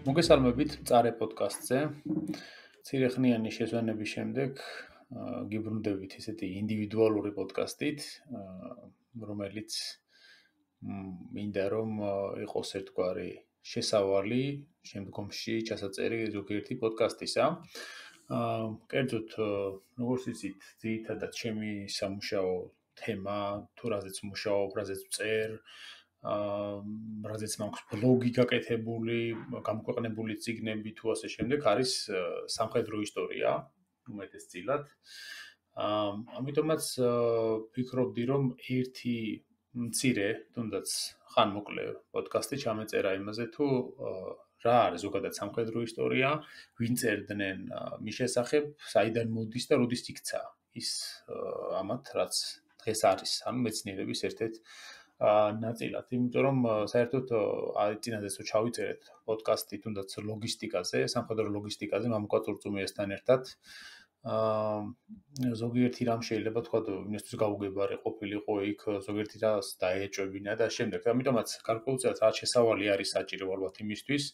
მოგესალმებით წარე პოდკასტზე. ცირეხნიანი შეзвანების შემდეგ გიბრუნდებით ესეთი ინდივიდუალური პოდკასტით, რომელიც მინდა რომ იყოს ერთგვარი შესავალი შემდგომში ჩასაწერი ზოგიერთი პოდკასტისა. კერძოდ, როგორც იცით, ძირითადად ჩემი სამუშაო თემა, თუ რაზეც მუშაობ, რაზეც ვწერ, რაზეც მაქვს ბლოგი გაკეთებული, გამოქვეყნებული წიგნები თუ ასე შემდეგ არის სამხედრო ისტორია, უმეტესწილად. ამიტომაც ვფიქრობდი, რომ ერთი მცირე, თუნდაც ხანმოკლე პოდკასტი ჩამეწერა იმაზე, თუ რა არის ზოგადად სამხედრო ისტორია, ვინ წერდნენ მის შესახებ, საიდან მოდის და როდის იქცა ის ამათ, რაც დღეს არის, ანუ მეცნიერების ერთ-ერთ ნაწილად, იმიტომ რომ საერთოდ წინადადაც რო ჩავიწერეთ პოდკასტი თუნდაც ლოგისტიკაზე, სამხედრო ლოგისტიკაზე მამუკა წურწუმიასთან ერთად. ზოგიერთი რამ შეიძლება თქვა, იმისთვის გაუგებარი ყოფილიყო იქ, ზოგიერთი რას დაეჭვებინა და შემდეგ. ამიტომაც გარკვეულწილად რაც შესავალი არის საჭირო ალბათ იმისთვის,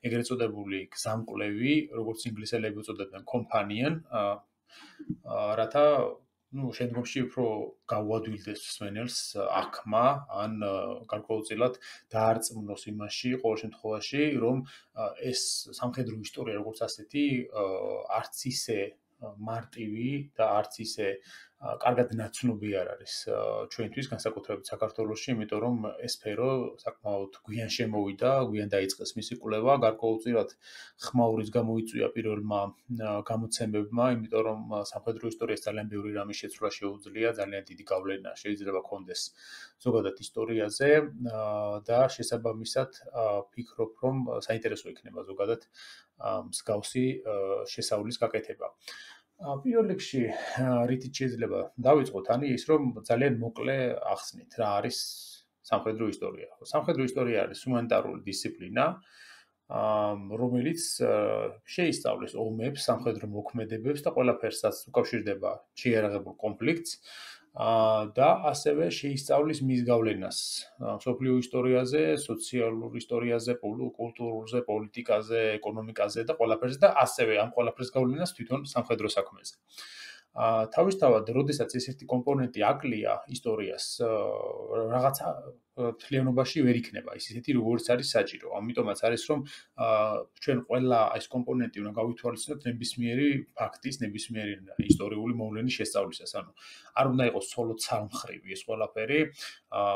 ეგრეთ წოდებული გზამკვლევი, როგორც ინგლისელები უწოდებენ companion, რათა შემდგომში უფრო გაუადვილდეს მსმენელს აღქმა ან გარკვეულწილად დაარწმუნოს იმაში, ყოველ შემთხვევაში, რომ ეს სამხედრო ისტორია როგორც ასეთი არც ისე მარტივი და არც ისე კარგად ნაცნობი არ არის ჩვენთვის, განსაკუთრებით საქართველოში, იმიტომ რომ ეს სფერო საკმაოდ გვიან შემოვიდა, გვიან დაიწყეს მისი კვლევა, გარკვეულწილად ხმაურიც გამოიწვია პირველმა გამოცემებმა, იმიტომ რომ სამხედრო ისტორიას ძალიან ბევრი რამის შეცვლა შეუძლია, ძალიან დიდი გავლენა შეიძლება ჰქონდეს ზოგადად ისტორიაზე და შესაბამისად ვფიქრობ, რომ საინტერესო იქნება ზოგადად მსგავსი შესავლის გაკეთება. პირველ რიგში რითიც შეიძლება დავიწყოთ, ის რომ ძალიან მოკლე ახსნით რა არის სამხედრო ისტორია. სამხედრო ისტორია არის ჰუმანიტარული დისციპლინა, რომელიც შეისწავლის ომებს, სამხედრო მოქმედებებს და ყველაფერს, რაც უკავშირდება შეიარაღებულ კონფლიქტს და ასევე შეისწავლის მის გავლენას მსოფლიო ისტორიაზე, სოციალურ ისტორიაზე, კულტურაზე, პოლიტიკაზე, ეკონომიკაზე და ყველაფერზე და ასევე ამ ყველაფრის გავლენას თვითონ სამხედრო საქმეზე. თავისთავად, როდესაც ეს ერთი კომპონენტი აკლია ისტორიას, რაღაცა მთლიანობაში ვერ იქნება ის ისეთი, როგორც არის საჭირო. ამიტომაც არის, რომ ჩვენ ყველა ეს კომპონენტი უნდა გავითვალისწინოთ ნებისმიერი ფაქტის, ნებისმიერი ისტორიული მოვლენის შესწავლისას. ანუ არ უნდა იყოს მხოლოდ სამმხრივი ეს ყველაფერი,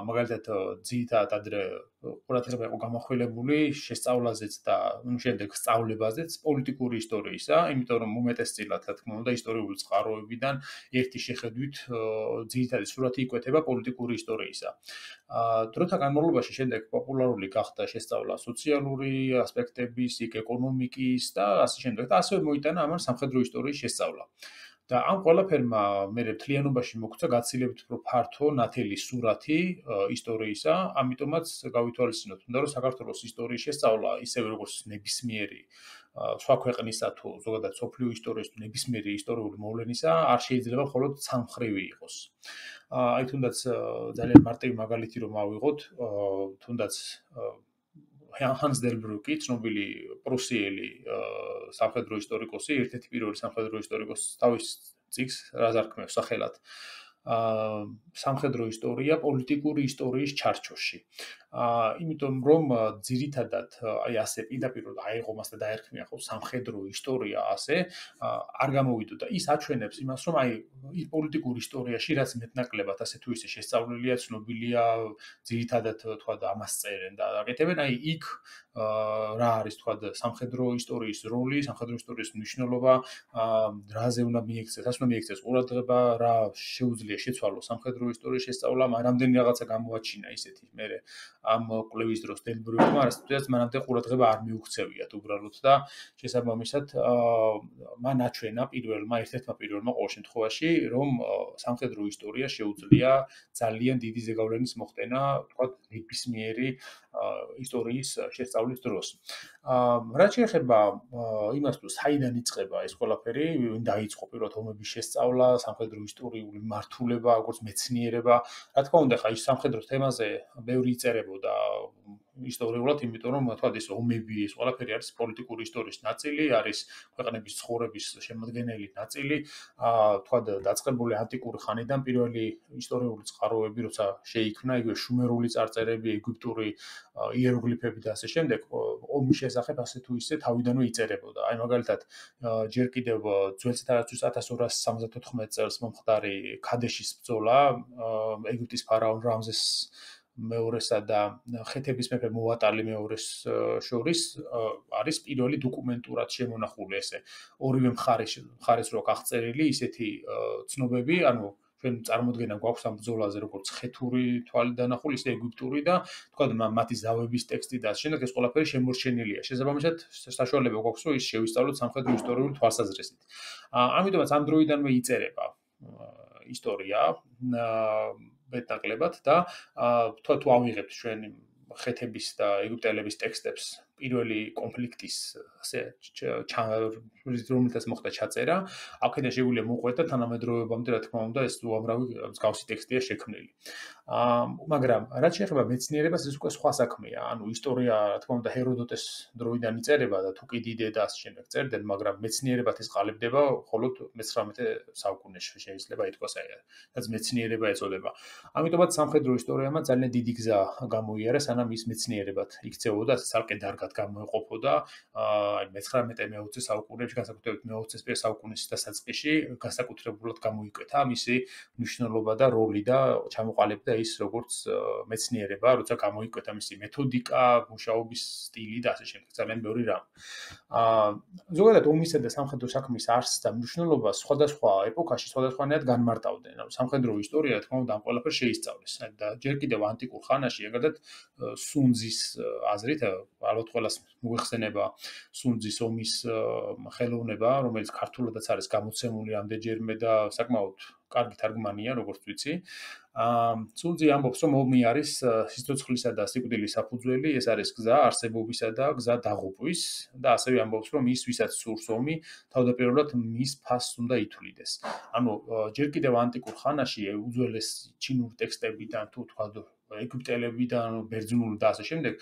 მაგალითად, ძირითადად ადრე ყურადღება იყო გამახვილებული შესწავლაზეც და შემდეგ სწავლებაზეც პოლიტიკური ისტორიისა, იმიტომ რომ უმეტესწილად, რა თქმა უნდა, ისტორიული წყაროებიდან ერთი შეხედვით ძირითადი სურათი იკვეთება პოლიტიკური ისტორიისა. დროთა განმავლობაში შემდეგ პოპულარული გახდა შესწავლა სოციალური ასპექტების, ეკონომიკის და ასე შემდეგ და ასევე მოიტანა ამან სამხედრო ისტორიის შესწავლა. და ამ ყველაფერმა მე მთლიანობაში მოგცა გაცილებით უფრო ფართო ნათელი სურათი ისტორიისა, ამიტომაც გავითვალისწინოთ, რომ საქართველოს ისტორიის შესწავლა, ისევე როგორც ნებისმიერი სხვა ქვეყნისა თუ ზოგადად სოფლიო ისტორიის თუ ნებისმიერი ისტორიული მოვლენისა, არ შეიძლება მხოლოდ სამმხრივი იყოს. თუნდაც ძალიან მარტივი მაგალითი რომ ავიღოთ, თუნდაც ჰანს დელბრუკი, ცნობილი პრუსიელი სამხედრო ისტორიკოსი, ერთ-ერთი პირველი სამხედრო ისტორიკოსი თავის წიგნს რას არქმევს სახელად სამხედრო ისტორია პოლიტიკური ისტორიის ჩარჩოში. იმიტომ რომ ძირითადად ასე პირდაპირ აიღო მას და დაერქმია ხო სამხედრო ისტორია ასე არ გამოვიდოდა. ის აჩვენებს იმას, რომ ის პოლიტიკურ ისტორიაში რაც მეტნაკლებად ასე თუ ისე შესწავლილია, ცნობილია, ძირითადად თქვა და ამას წერენ და აკეთებენ, იქ რა არის თქვა სამხედრო ისტორიის როლი, სამხედრო ისტორიის მნიშვნელობა, რაზე უნდა მიექცეს, ასე უნდა მიექცეს ყურადღება, რა შეუძლია შეცვალოს სამხედრო ისტორიის შესწავლამ, რამდენი რაღაცა გამოაჩინა ისეთი მე ამ კვლევის დროს დელბრუკმა, რასაც მანამდე ყურადღება არ მიუქცევიათ უბრალოდ და შესაბამისად მან აჩვენა ერთ-ერთმა პირველმა ყოველ შემთხვევაში, რომ სამხედრო ისტორია შეუძლია ძალიან დიდი ზეგავლენის მოხდენა, თქვა ნებისმიერი ისტორიის შესწავლის დროს. რაც შეეხება იმას, თუ საიდან იწყება ეს ყველაფერი, ვინ დაიწყო პირველად ომების შესწავლა, სამხედრო ისტორიული მართულება, როგორც მეცნიერება, რა თქმა უნდა, ხა ის სამხედრო თემაზე ბევრი იწერებოდა იწებოდა ისტორიულად, იმიტომ რომ თქვათ ეს ომები, ეს ყველაფერი არის პოლიტიკური ისტორიის ნაწილი, არის ქვეყნების ცხოვრების შემადგენელი ნაწილი, თქვათ დაწყებული ანტიკური ხანიდან პირველი ისტორიული წყაროები, როცა შეიქმნა, იგივე შუმერული წარწერები, ეგვიპტური იეროგლიფები და ასე შემდეგ, ომის შესახებ ასე თუ ისე თავიდანვე იწერებოდა. აი მაგალითად, ჯერ კიდევ ძველ წელიწადში 1274 წელს მომხდარი ქადეშის ბრძოლა ეგვიპტის ფარაონ რამზეს მეორესა და ხეთების მეფე მუატალი მეორის შორის არის პირველი დოკუმენტურად შემონახული ესე ორივე მხარეს რო აღწერილი ისეთი ცნობები, ანუ ჩვენ წარმოდგენა გვაქვს ამ ბრძოლაზე როგორც ხეთური თვალით დანახული, ისე ეგვიპტური და თქვა მათი ზავების ტექსტი და შემდეგ ეს ყველაფერი შემორჩენილია. შესაბამისად, საშუალება გვაქვს რომ ის შევისწავლოთ სამხედრო ისტორიული თვალსაზრისით. ამიტომაც ამ დროიდანვე იწერება ისტორია მეტნაკლებად და თუ ავიღებთ ჩვენ ხეთების და ეგვიპტელების ტექსტებს პირველი კონფლიქტის ასე რომელთაც მოხდა ჩაწერა, აქედან შეგვიძლია მოყვეთ და თანამედროვეობამდე რა თქმა უნდა ეს უამრავი მსგავსი ტექსტია შექმნილი. მაგრამ რაც შეეხება მეცნიერებას, ეს უკვე სხვა საქმეა. ანუ ისტორია, რა თქმა უნდა, ჰეროდოტეს დროიდან იწერება და თუკიდიდე და ასე შემდეგ წერდნენ, მაგრამ მეცნიერებად ეს ყალიბდება მხოლოდ მე-19 საუკუნეში შეიძლება ითქვას, რაც მეცნიერება ეწოდება. ამიტომაც სამხედრო ისტორიამა ძალიან დიდი გზა გამოიარა, სანამ ის მეცნიერებად იქცეოდა, ასე ცალკე დარგად გამოეყოფოდა აი მე-19-20 საუკუნეებში, განსაკუთრებით მე-20 საუკუნის დასაწყისში, განსაკუთრებულად გამოიკვეთა მისი მნიშვნელობა და როლი და ჩამოყალიბდა ის როგორც მეცნიერება, როცა გამოიკვეთა მისი მეთოდიკა, მუშაობის სტილი და ასე შემდეგ, ძალიან ბევრი რამ. ზოგადად ომისა და სამხედრო საქმის არსს და მნიშვნელობას სხვადასხვა ეპოქაში სხვადასხვანაირად განმარტავდნენ. ანუ სამხედრო ისტორია, თქმა უნდა, ამ ყველაფერს შეისწავლის და ჯერ კიდევ ანტიკურ ხანაში, ეგრედად სუნძის აზრით, ალბათ ყველას მოიხსენება სუნძის ომის ხელოვნება, რომელიც ქართულადაც არის გამოცემული ამდენჯერმე და საკმაოდ კარგი თარგმანია, როგორც ვიცი. სუნძი ამბობს, რომ ომი არის სიცოცხლისა და სიკვდილის საფუძველი, ეს არის გზა არსებობისა და გზა დაღუპვის და ასევე ამბობს, რომ ის, ვისაც სურს ომი, თავდაპირველად მის ფასს უნდა ითვლიდეს. ანუ ჯერ კიდევ ანტიკურ ხანაში უძველეს ჩინური ტექსტებიდან თუ თქვა ეგვიპტელებიდან, ბერძნული და ასე შემდეგ,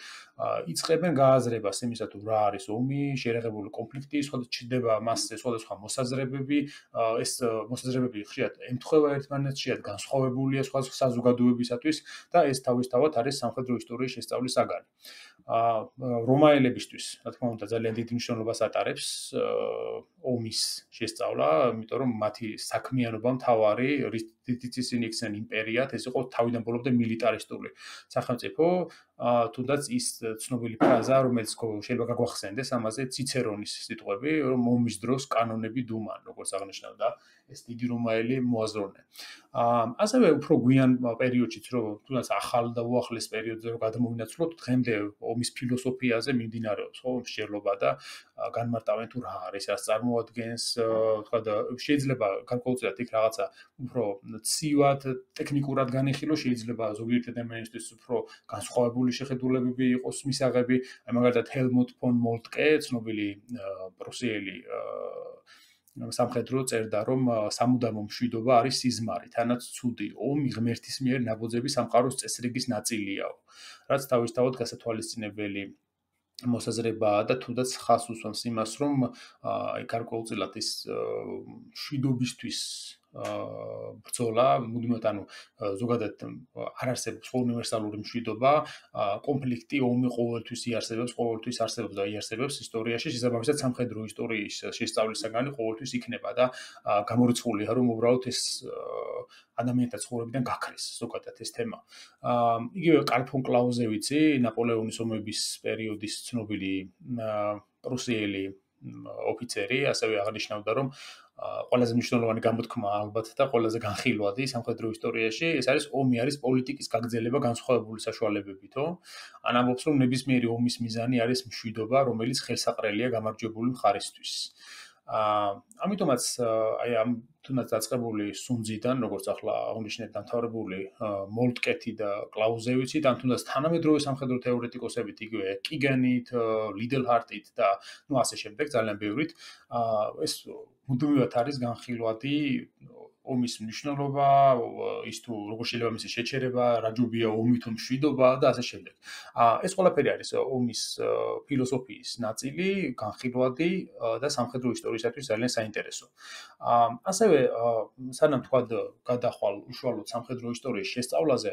იწყებენ გააზრებას იმისა, თუ რა არის ომი, შერეღებული კონფლიქტი, ჩნდება მასზე სხვადასხვა მოსაზრებები, ეს მოსაზრებები ხშირად ემთხვევა ერთმანეთს, ხშირად განსხვავებულია სხვა საზოგადოებისათვის და ეს თავისთავად არის სამხედრო ისტორიის შესწავლის საგანი. რომაელებისთვის, რა თქმა უნდა, ძალიან დიდ მნიშვნელობას ატარებს ომის შესწავლა, იმიტომ რომ მათი საქმიანობა მთავარი რითიც ისინი იქცნენ იმპერიად, ეს იყო თავიდან ბოლომდე მილიტარისტული სახელმწიფო, თუნდაც ის ცნობილი ფრაზა, რომელიც შეიძლება გაგვახსენდეს ამაზე, ციცერონის სიტყვები, რომ ომის დროს კანონები დუმან, როგორც აღნიშნავდა ეს დიდი რომაელი მოაზროვნე. ასევე უფრო გვიან პერიოდშიც, რომ თუნდაც ახალ და უახლეს პერიოდზე რომ გადმოვინაცვლოთ, დღემდე ომის ფილოსოფიაზე მიმდინარეობს, ხო, მსჯელობა და განმარტავენ თუ რა არის, რას წარმოადგენს, თქვა და შეიძლება გარკვეულწილად იქ რაღაცა უფრო ცივად, ტექნიკურად განიხილო, შეიძლება ზოგიერთი ადამიანისთვის უფრო განსხვავებული შეხედულებები იყოს მისაღები, აი მაგალითად ჰელმუტ ფონ მოლტკე, ცნობილი პრუსიელი სამხედრო წერდა, რომ სამუდამო მშვიდობა არის სიზმარი, თანაც ცუდი ომი ღმერთის მიერ ნაბოძები სამყაროს წესრიგის ნაწილიაო, რაც თავისთავად გასათვალისწინებელი მოსაზრებაა და თუნდაც ხაზს უსვამს იმას, რომ აი გარკვეულწილად ის მშვიდობისთვის ბრძოლა, მუდმივად ანუ ზოგადად არ არსებობს უნივერსალური მშვიდობა, კონფლიქტი, ომი ყოველთვის არსებობს და იარსებებს ისტორიაში, შესაბამისად სამხედრო ისტორიის შესწავლის საგანი ყოველთვის იქნება და გამორიცხულია, რომ უბრალოდ ეს ადამიანთა ცხოვრებიდან გაქრეს ზოგადად ეს თემა. იგივე კარლ ფონ კლაუზევიცი, ნაპოლეონის ომების პერიოდის ცნობილი პრუსიელი ოფიცერი, ასევე აღნიშნავდა, რომ ყველაზე მნიშვნელოვანი გამოთქმა ალბათ და ყველაზე განხილვადი სამხედრო ისტორიაში ეს არის ომი არის პოლიტიკის გაგრძელება განსხვავებული საშუალებებითო. ან ამბობს, რომ ნებისმიერი ომის მიზანი არის მშვიდობა, რომელიც ხელსაყრელია გამარჯვებული მხარისთვის. ამიტომაც აი ამ თუნდაც დაწყებული სუნძიდან, როგორც ახლა აღნიშნეთ, დამთავრებული მოლტკეთი და კლაუზევიცით, ან თუნდაც თანამედროვე სამხედრო თეორეტიკოსებით, იგივე კიგენით, ლიდელჰარტით და ასე შემდეგ, ძალიან ბევრით, ეს მუდმივად არის განხილვადი ომის მნიშვნელობა, ის თუ როგორ შეიძლება მისი შეჩერება, რა ჯობია ომი თუ მშვიდობა და ასე შემდეგ. ეს ყველაფერი არის ომის ფილოსოფიის ნაწილი, განხილვადი და სამხედრო ისტორიისათვის ძალიან საინტერესო. ასევე სანამ თქვა გადახვალ უშუალოდ სამხედრო ისტორიის შესწავლაზე,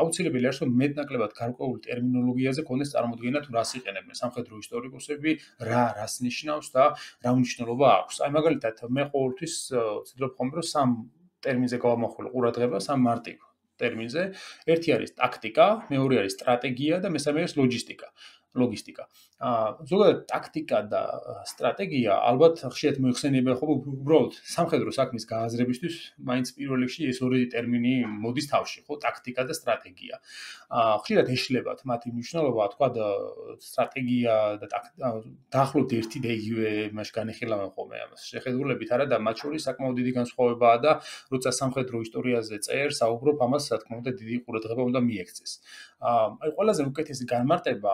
აუცილებელი არის რომ მეტნაკლებად გარკვეული ტერმინოლოგიაზე ქონდეს წარმოდგენა თუ რას იყენებენ სამხედრო ისტორიკოსები, რას ნიშნავს და რა მნიშვნელობა აქვს. აი მაგალითად მე ყოველთვის ვცდილობ ხომ რომ სამ ტერმინზე გავამახვილო ყურადღება, სამ მარტივ ტერმინზე. ერთი არის ტაქტიკა, მეორე არის სტრატეგია და მესამე არის ლოგისტიკა. ზოგადად ტაქტიკა და სტრატეგია ალბათ ხშირად მოიხსენიება ხო უბრალოდ სამხედრო საქმის გააზრებისთვის, მაინც პირველ რიგში ეს ორი ტერმინი მოდის თავში, ხო, ტაქტიკა და სტრატეგია. ხშირად ეშლებათ მათი მნიშვნელობა, თქვა სტრატეგია და დაახლოებით ერთი და იგივე მასში განიხილავენ ხოლმე ამას. შეხედულებით არა და მათ შორის საკმაოდ დიდი განსხვავებაა და როცა სამხედრო ისტორიაზე წერს, საუბრობ ამას, რა თქმა უნდა, დიდი ყურადღება უნდა მიექცეს. აი ყველაზე უკეთესი განმარტება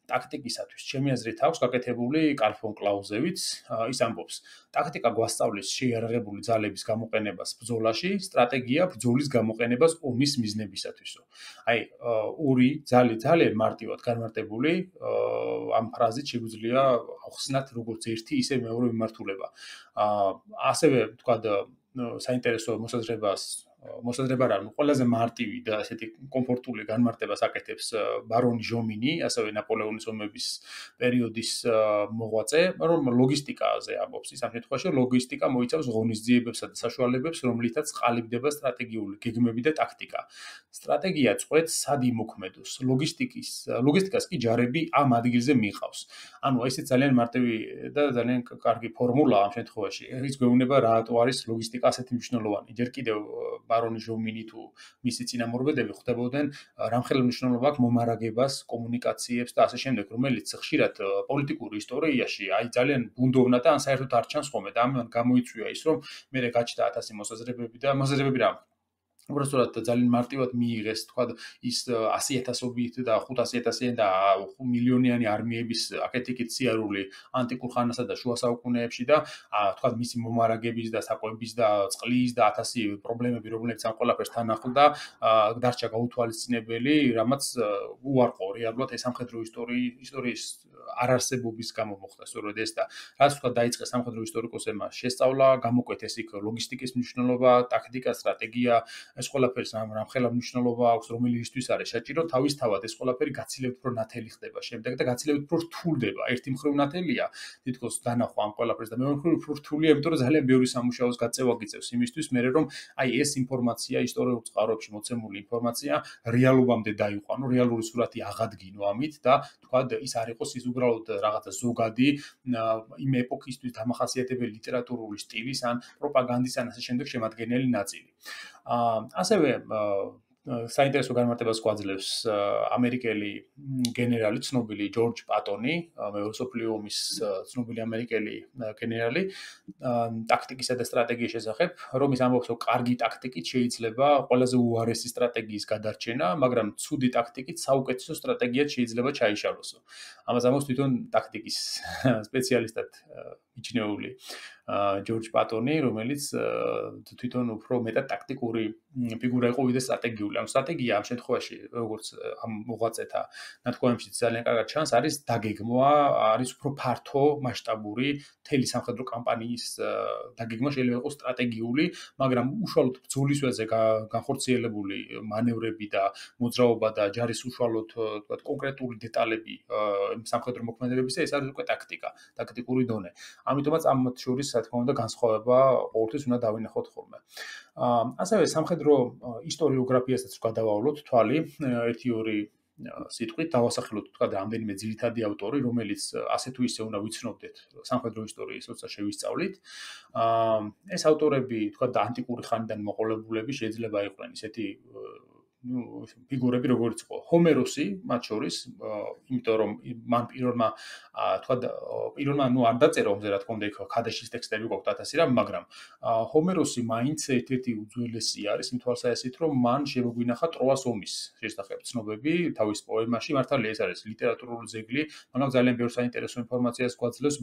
ტაქტიკისათვის ჩემი აზრით აქვს გაკეთებული კარლ ფონ კლაუზევიც, ის ამბობს: ტაქტიკა გვასწავლის შეიარაღებული ძალების გამოყენებას ბრძოლაში, სტრატეგია ბრძოლის გამოყენებას ომის მიზნებისათვისო. აი, ორი ძალიან მარტივად განმარტებული ამ ფრაზით შეგვიძლია ახსნათ როგორც ერთი, ისე მეორე მიმართულება. ასევე თქვა საინტერესო მოსაზრება რა, ყველაზე მარტივი და ასეთი კომფორტული განმარტებას აკეთებს ბარონი ჟომინი, ასევე ნაპოლეონის ომების პერიოდის მოღვაწე, რომ ლოგისტიკაზე ამბობს. ის ამ შემთხვევაში ლოგისტიკა მოიცავს ღონისძიებებსა და საშუალებებს, რომლითაც ყალიბდება სტრატეგიული გეგმები და ტაქტიკა. სტრატეგია წყვეტს სად იმოქმედოს, ლოგისტიკას კი ჯარები ამ ადგილზე მიყავს. ანუ ესეც ძალიან მარტივი და ძალიან კარგი ფორმულა ამ შემთხვევაში. ის გვეუბნება რატო არის ლოგისტიკა ასეთი მნიშვნელოვანი. ჯერ კიდევ ბარონი ჟომინი თუ მისი წინამორბედები ხვდებოდნენ რამხელა მნიშვნელობა აქვს მომარაგებას, კომუნიკაციებს და ასე შემდეგ, რომელიც ხშირად პოლიტიკურ ისტორიაში აი ძალიან ბუნდოვნა და ან საერთოდ არ ჩანს ხოლმე და ამან გამოიწვია ის, რომ მე გაჩნდა 1000 მოსაზრებები რა უბრალოდ ძალიან მარტივად მიიღეს, თქვა ის 100,000-ობით და 500,000-იანი და მილიონიანი არმიების აკეთიკით სიარული ანტიკურ ხანასა და შუა საუკუნეებში და თქვა მისი მომარაგების და საკვების და წყლის და 1000 პრობლემები, რომლებიც ამ ყველაფერს თან ახლდა, დარჩა გაუთვალისწინებელი, რამაც უარყო რეალურად ეს სამხედრო ისტორიის არარსებობის გამო მოხდა სწორედ ეს და რაც თქვა დაიწყეს სამხედრო ისტორიკოსებმა შესწავლა, გამოკვეთეს იქ ლოგისტიკის მნიშვნელობა, ტაქტიკა, სტრატეგია, ეს ყველაფერს რამხელა მნიშვნელობა აქვს, რომელისთვის არის საჭირო, თავისთავად ეს ყველაფერი გაცილებით უფრო ნათელი ხდება შემდეგ და გაცილებით უფრო რთულდება. ერთი მხრივ ნათელია, თითქოს დანახვა ამ ყველაფერს და მეორე მხრივ უფრო რთულია, იმიტომ რომ ძალიან ბევრი სამუშაოს გაწევა გიწევს იმისთვის, მერე რომ აი ეს ინფორმაცია, ისტორიულ წყაროებში მოცემული ინფორმაცია რეალობამდე დაიყვანო, რეალური სურათი აღადგინო ამით და თქვა ის არ იყოს ის უბრალოდ რაღაცა ზოგადი იმ ეპოქისთვის დამახასიათებელი ლიტერატურული სტილის ან პროპაგანდის ან ასე შემდეგ შემადგენელი ნაწილი. ასევე საინტერესო განმარტებას გვაძლევს ამერიკელი გენერალი, ცნობილი ჯორჯ პატონი, მეორე მსოფლიო ომის ცნობილი ამერიკელი გენერალი, ტაქტიკისა და სტრატეგიის შესახებ, რომ ის ამბობს, რომ კარგი ტაქტიკით შეიძლება ყველაზე უარესი სტრატეგიის გადარჩენა, მაგრამ ცუდი ტაქტიკით საუკეთესო სტრატეგიად შეიძლება ჩაიშალოსო. ამას ამბობს თვითონ ტაქტიკის სპეციალისტად მიჩნეული ჯორჯ პატონი, რომელიც თვითონ უფრო მეტად ტაქტიკური ფიგურა იყო ვიდრე სტრატეგიული. ანუ სტრატეგია ამ შემთხვევაში, როგორც ამ მოღვაწეთა ნათქვამებში ძალიან კარგად ჩანს, არის დაგეგმვა, არის უფრო ფართო მასშტაბური მთელი სამხედრო კამპანიის დაგეგმვა შეიძლება იყოს სტრატეგიული, მაგრამ უშუალოდ ბრძოლის ველზე განხორციელებული მანევრები და მოძრაობა და ჯარის უშუალოდ თქვათ კონკრეტული დეტალები სამხედრო მოქმედებებისა, ეს არის უკვე ტაქტიკა, ტაქტიკური დონე. ამიტომაც ამ შორის რა თქმა უნდა განსხვავება ყოველთვის უნდა დავინახოთ ხოლმე. ასევე სამხედრო ისტორიოგრაფიასაც გადავავლოთ თვალი, ერთი-ორი სიტყვით დავასახელოთ თქვა რამდენიმე ძირითადი ავტორი, რომელიც ასე თუ ისე უნდა ვიცნობდეთ სამხედრო ისტორიის როცა შევისწავლით. ეს ავტორები თქვა ანტიკური ხანიდან მოყოლებულები შეიძლება იყვნენ ისეთი ფიგურები როგორიც იყო ჰომეროსი მათ შორის, იმიტომ რომ მან პირველმა არ დაწერა ომზე რა თქმა უნდა იქ ქადაშის ტექსტები გვაქვს 1000 რამ, მაგრამ ჰომეროსი მაინც ერთ-ერთი უძველესი არის იმ თვალსაზრისით, რომ მან შემოგვინახა ტროას ომის შესახებ ცნობები თავის პოემაში, მართალია ეს არის ლიტერატურული ძეგლი, მაგრამ ძალიან ბევრ საინტერესო ინფორმაციას გვაძლევს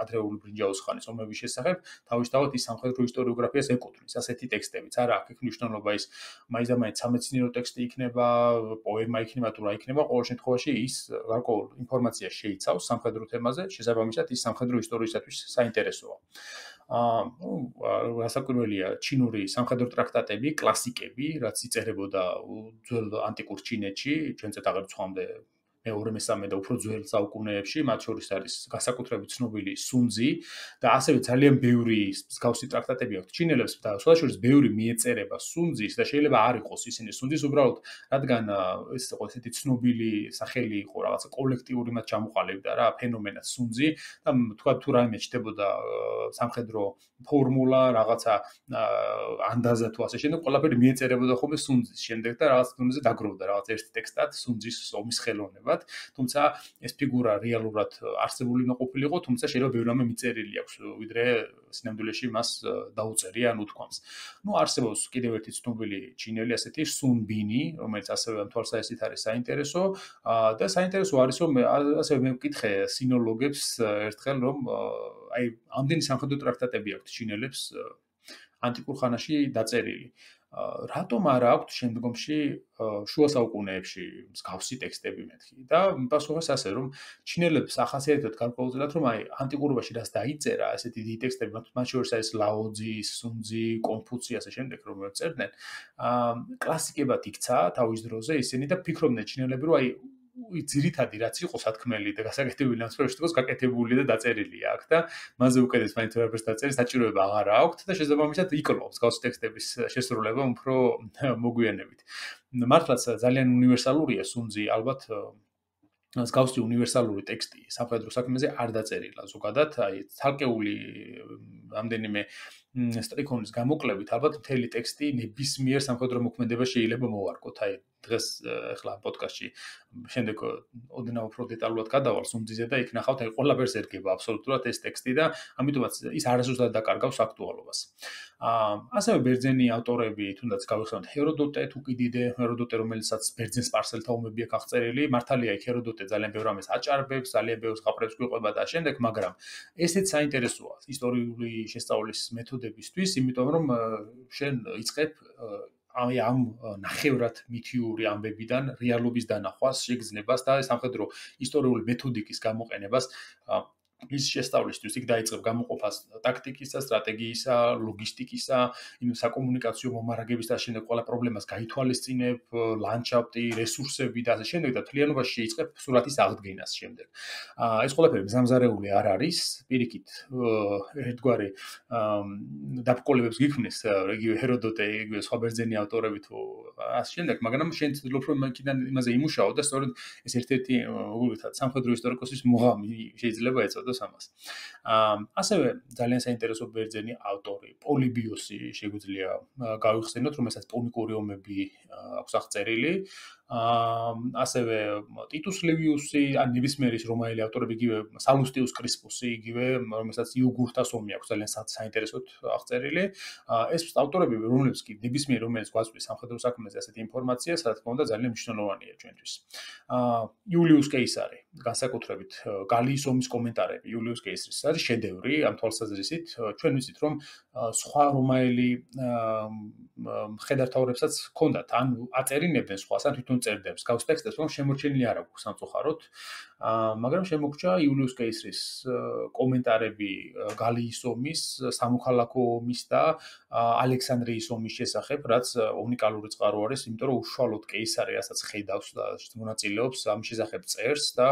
ადრეული ბრინჯაოს ხანის ომების შესახებ, თავისთავად ის სამხედრო ისტორიოგრაფიას ეკუთვნის, ასეთი ტექსტებიც არა აქვს მნიშვნელობა ის მაინც და მაინც სამეცნიერო ტექსტი იქნება, პოემა იქნება თუ რა იქნება, ყოველ შემთხვევაში ის გარკვეულ ინფორმაციას შეიცავს სამხედრო თემაზე, შესაბამისად ის სამხედრო ისტორიისათვის საინტერესოა. რასაკვირველია, ჩინური სამხედრო ტრაქტატები, კლასიკები, რაც იწერებოდა ძველ ანტიკურ ჩინეთში, ჩვენც აღარ ვცხვამდე მე-2-მესამე და უფრო ძველ საუკუნეებში, მათ შორის არის განსაკუთრებით ცნობილი სუნძი და ასევე ძალიან ბევრი მსგავსი ტრაქტატები აქვს ჩინელებს და შესაძლოა ბევრი მიეწერება სუნძის და შეიძლება არ იყოს ისინი სუნძის უბრალოდ, რადგან ეს იყო ესეთი ცნობილი სახელი იყო რაღაცა კოლექტიური მათ ჩამოყალიბდა რა ფენომენად სუნძი და თქვა თუ რაიმე ჩდებოდა სამხედრო ფორმულა, რაღაცა ანდაზა თუ ასე შემდეგ, ყველაფერი მიეწერებოდა ხოლმე სუნძის შემდეგ და რაღაც დონეზე დაგროვდა რაღაც ერთ ტექსტად სუნძის ომის ხელოვნებად, თუმცა ეს ფიგურა რეალურად არსებული უნდა ყოფილიყო, თუმცა შეიძლება ბევრი რამე მიწერილი აქვს, ვიდრე სინამდვილეში მას დაუწერია ან უთქვამს. არსებობს კიდევ ერთი ცნობილი ჩინელი ასეთი სუნ ბინი, რომელიც ასევე ამ თვალსაზრისით არის საინტერესო და საინტერესო არის რომ ასევე მე ვკითხე სინოლოგებს ერთხელ რომ აი ამდენი სამხედრო ტრაქტატები აქვს ჩინელებს ანტიკურ ხანაში დაწერილი. რატომ არ აქვთ შემდგომში შუა საუკუნეებში მსგავსი ტექსტები მეთქი და პასუხი ასე რომ ჩინელებს ახასიათებთ გარკვეულწილად რომ აი ანტიკურობაში რაც დაიწერა ესეთი დიდი ტექსტები მათ შორის არის ლაოძი, სუნძი, კონფუცი ასე შემდეგ რომ წერდნენ კლასიკებად იქცა თავის დროზე ისინი და ფიქრობდნენ ჩინელები რომ აი ძირითადი რაც იყო სათქმელი და გასაკეთებელი ამ სფეროში თქოს გაკეთებული და დაწერილია აქ და მასზე უკეთეს მაინც ვერაფერს დაწერის საჭიროება აღარ აქვს და შესაბამისად იკლობს გავს ტექსტების შესრულება უფრო მოგვიანებით. მართლაც ძალიან უნივერსალურია სუნძი ალბათ მსგავსი უნივერსალური ტექსტი სამხედრო საქმეზე არ დაწერილა ზოგადად, აი ცალკეული რამდენიმე სტრიქონის გამოკლებით ალბათ მთელი ტექსტი ნებისმიერ სამხედრო მოქმედებაში შეიძლება მოვარკოთ. აი დღეს ახლა პოდკასტში შემდეგ ოდნავ უფრო დეტალურად გადავალ სუნძიზე და იქ ნახავთ აი ყველაფერს ერგება აბსოლუტურად ეს ტექსტი და ამიტომაც ის არასდროს დაკარგავს აქტუალობას. ასევე ბერძენი ავტორები თუნდაც გავიხსენოთ ჰეროდოტე, თუკიდიდე, ჰეროდოტე რომელსაც ბერძენ სპარსელთა ომები აქვს აღწერილი, მართალია იქ ჰეროდოტე ძალიან ბევრ რამეს აჭარბებს, ძალიან ბევრ ზღაპრებს გვიყვება და შემდეგ, მაგრამ ესეც საინტერესოა ისტორიული შესწავლის მეთოდებისთვის, იმიტომ რომ შენ იწყებ აი ამ ნახევრად მითიური ამბებიდან რეალობის დანახვას, შეგრძნებას და სამხედრო ისტორიული მეთოდიკის გამოყენებას ის შესწავლისთვის იქ დაიწყებ გამოყოფას ტაქტიკისა, სტრატეგიისა, ლოგისტიკისა, საკომუნიკაციო მომარაგების და შემდეგ ყველა პრობლემას გაითვალისწინებ, ლანდშაფტი, რესურსები და ასე შემდეგ და თლიანობაში შეიწყებ სურათის აღდგენას შემდეგ. ეს ყველაფერი მზამზარეული არ არის, პირიქით ერთგვარი დაბრკოლებებს გიქმნის იგივე ჰეროდოტე, იგივე სხვა ბერძენი ავტორები თუ ასე შემდეგ, მაგრამ შენ ცდილობ რომ იქიდან იმაზე იმუშაო და სწორედ ეს ერთ-ერთი უბრალოდ სამხედრო ისტორიკოსის მოღამი შეიძლება ეწოდოს ამას. ასევე ძალიან საინტერესო ბერძენი ავტორი პოლიბიოსი შეგვიძლია გავიხსენოთ, რომელსაც პუნიკური ომები აქვს აღწერილი. ასევე ტიტუს ლივიუსი, ან ნებისმიერი რომაელი ავტორები, იგივე სალუსტიუს კრისპუსი, იგივე რომელსაც იუგურთას ომი აქვს ძალიან საინტერესოდ აღწერილი. ეს ავტორები, რომლებიც კი ნებისმიერი რომელიც გვაწვდის სამხედრო საქმეზე ასეთი ინფორმაცია, რა თქმა უნდა, ძალიან მნიშვნელოვანია ჩვენთვის. იულიუს კეისარი, განსაკუთრებით გალიის ომის კომენტარები იულიუს კეისრის არის შედევრი ამ თვალსაზრისით. ჩვენ ვიცით, რომ სხვა რომაელი მხედართმთავრებსაც ჰქონდათ, ან აწერინებდნენ სხვას, ან თვითონ წერდნენ მსგავს ტექსტებს, რომ შემორჩენილი არ აქვს სამწუხაროდ. მაგრამ შემოგჭა იულიუს კეისრის კომენტარები გალიის ომის, სამოქალაქო ომის და ალექსანდრიის ომის შესახებ, რაც უნიკალური წყარო არის, იმიტომ რომ უშუალოდ კეისარი რასაც ხედავს და მონაწილეობს ამ შესახებ წერს და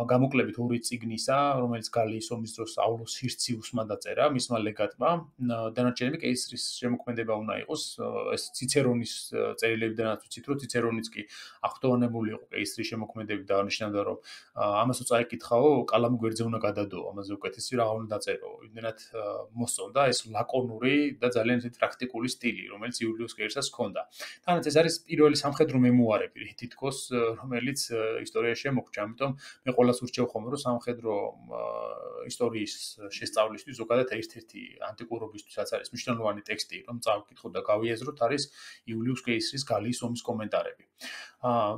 გამოკლებით ორი წიგნისა, რომელიც გალიის ომის დროს აულოს ჰირციუსმა დაწერა, მისმა ლეგატმა, დანარჩენები კეისრის შემოქმედება უნდა იყოს, ეს ციცერონის წერილებიდანაც ვიცით, რომ ციცერონიც კი აღფრთოვანებული იყო კეისრის შემოქმედებით და ნიშნავდა რომ ამას რო წაიკითხაო, კალამი გვერდზე უნდა გადადო, ამაზე უკეთესი რა უნდა დაწერო. იმდენად მოსწონდა ეს ლაკონური და ძალიან ისეთი პრაქტიკული სტილი, რომელიც იულიუს კეისრს ჰქონდა. თანაც ეს არის პირველი სამხედრო მემუარები, თითქოს რომელიც ისტორიაში შემოგვჭა, ამიტომ მე ყველას ურჩევ ხომ რომ სამხედრო ისტორიის შესწავლისთვის ზოგადად ერთ-ერთი ანტიკურობისთვისაც არის მნიშვნელოვანი ტექსტი, რომ წავკითხოთ და გავიაზროთ, არის იულიუს კეისრის გალიის ომის კომენტარები.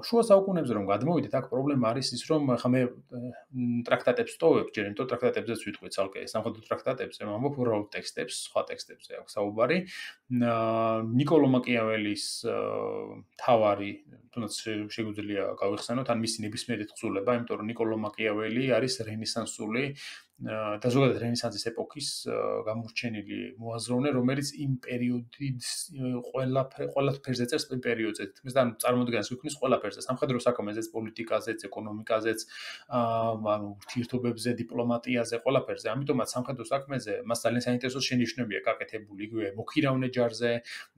შუა საუკუნეებზე რომ გადმოვიდეთ, აქ პრობლემა არის ის, რომ ხა მე ტრაქტატებს ვტოვებ, ჯერ იმიტომ ტრაქტატებზეც ვიტყვი ცალკე, სამხედრო ტრაქტატებზე, ამბობ უბრალოდ ტექსტებს, სხვა ტექსტებზე აქვს საუბარი. ნიკოლო მაკიაველის თავარი, თუნდაც შეგვიძლია გავიხსენოთ, ან მისი ნებისმიერი თხზულება, იმიტომ რომ ნიკოლო მაკიაველი არის რენესანსული და ზოგადად რენესანსის ეპოქის გამორჩენილი მოაზროვნე, რომელიც იმ პერიოდის ყველა ფერზე წერს იმ პერიოდზე. თითქმის და წარმოადგენს ვიქმნის ყველა ფერზე, სამხედრო საქმეზეც, პოლიტიკაზეც, ეკონომიკაზეც, ანუ ურთიერთობებზე, დიპლომატიაზე, ყველა ფერზე. ამიტომაც სამხედრო საქმეზე მას ძალიან საინტერესო შენიშვნები აქვს გაკეთებული, იგივე მოქირავნე ჯარზე,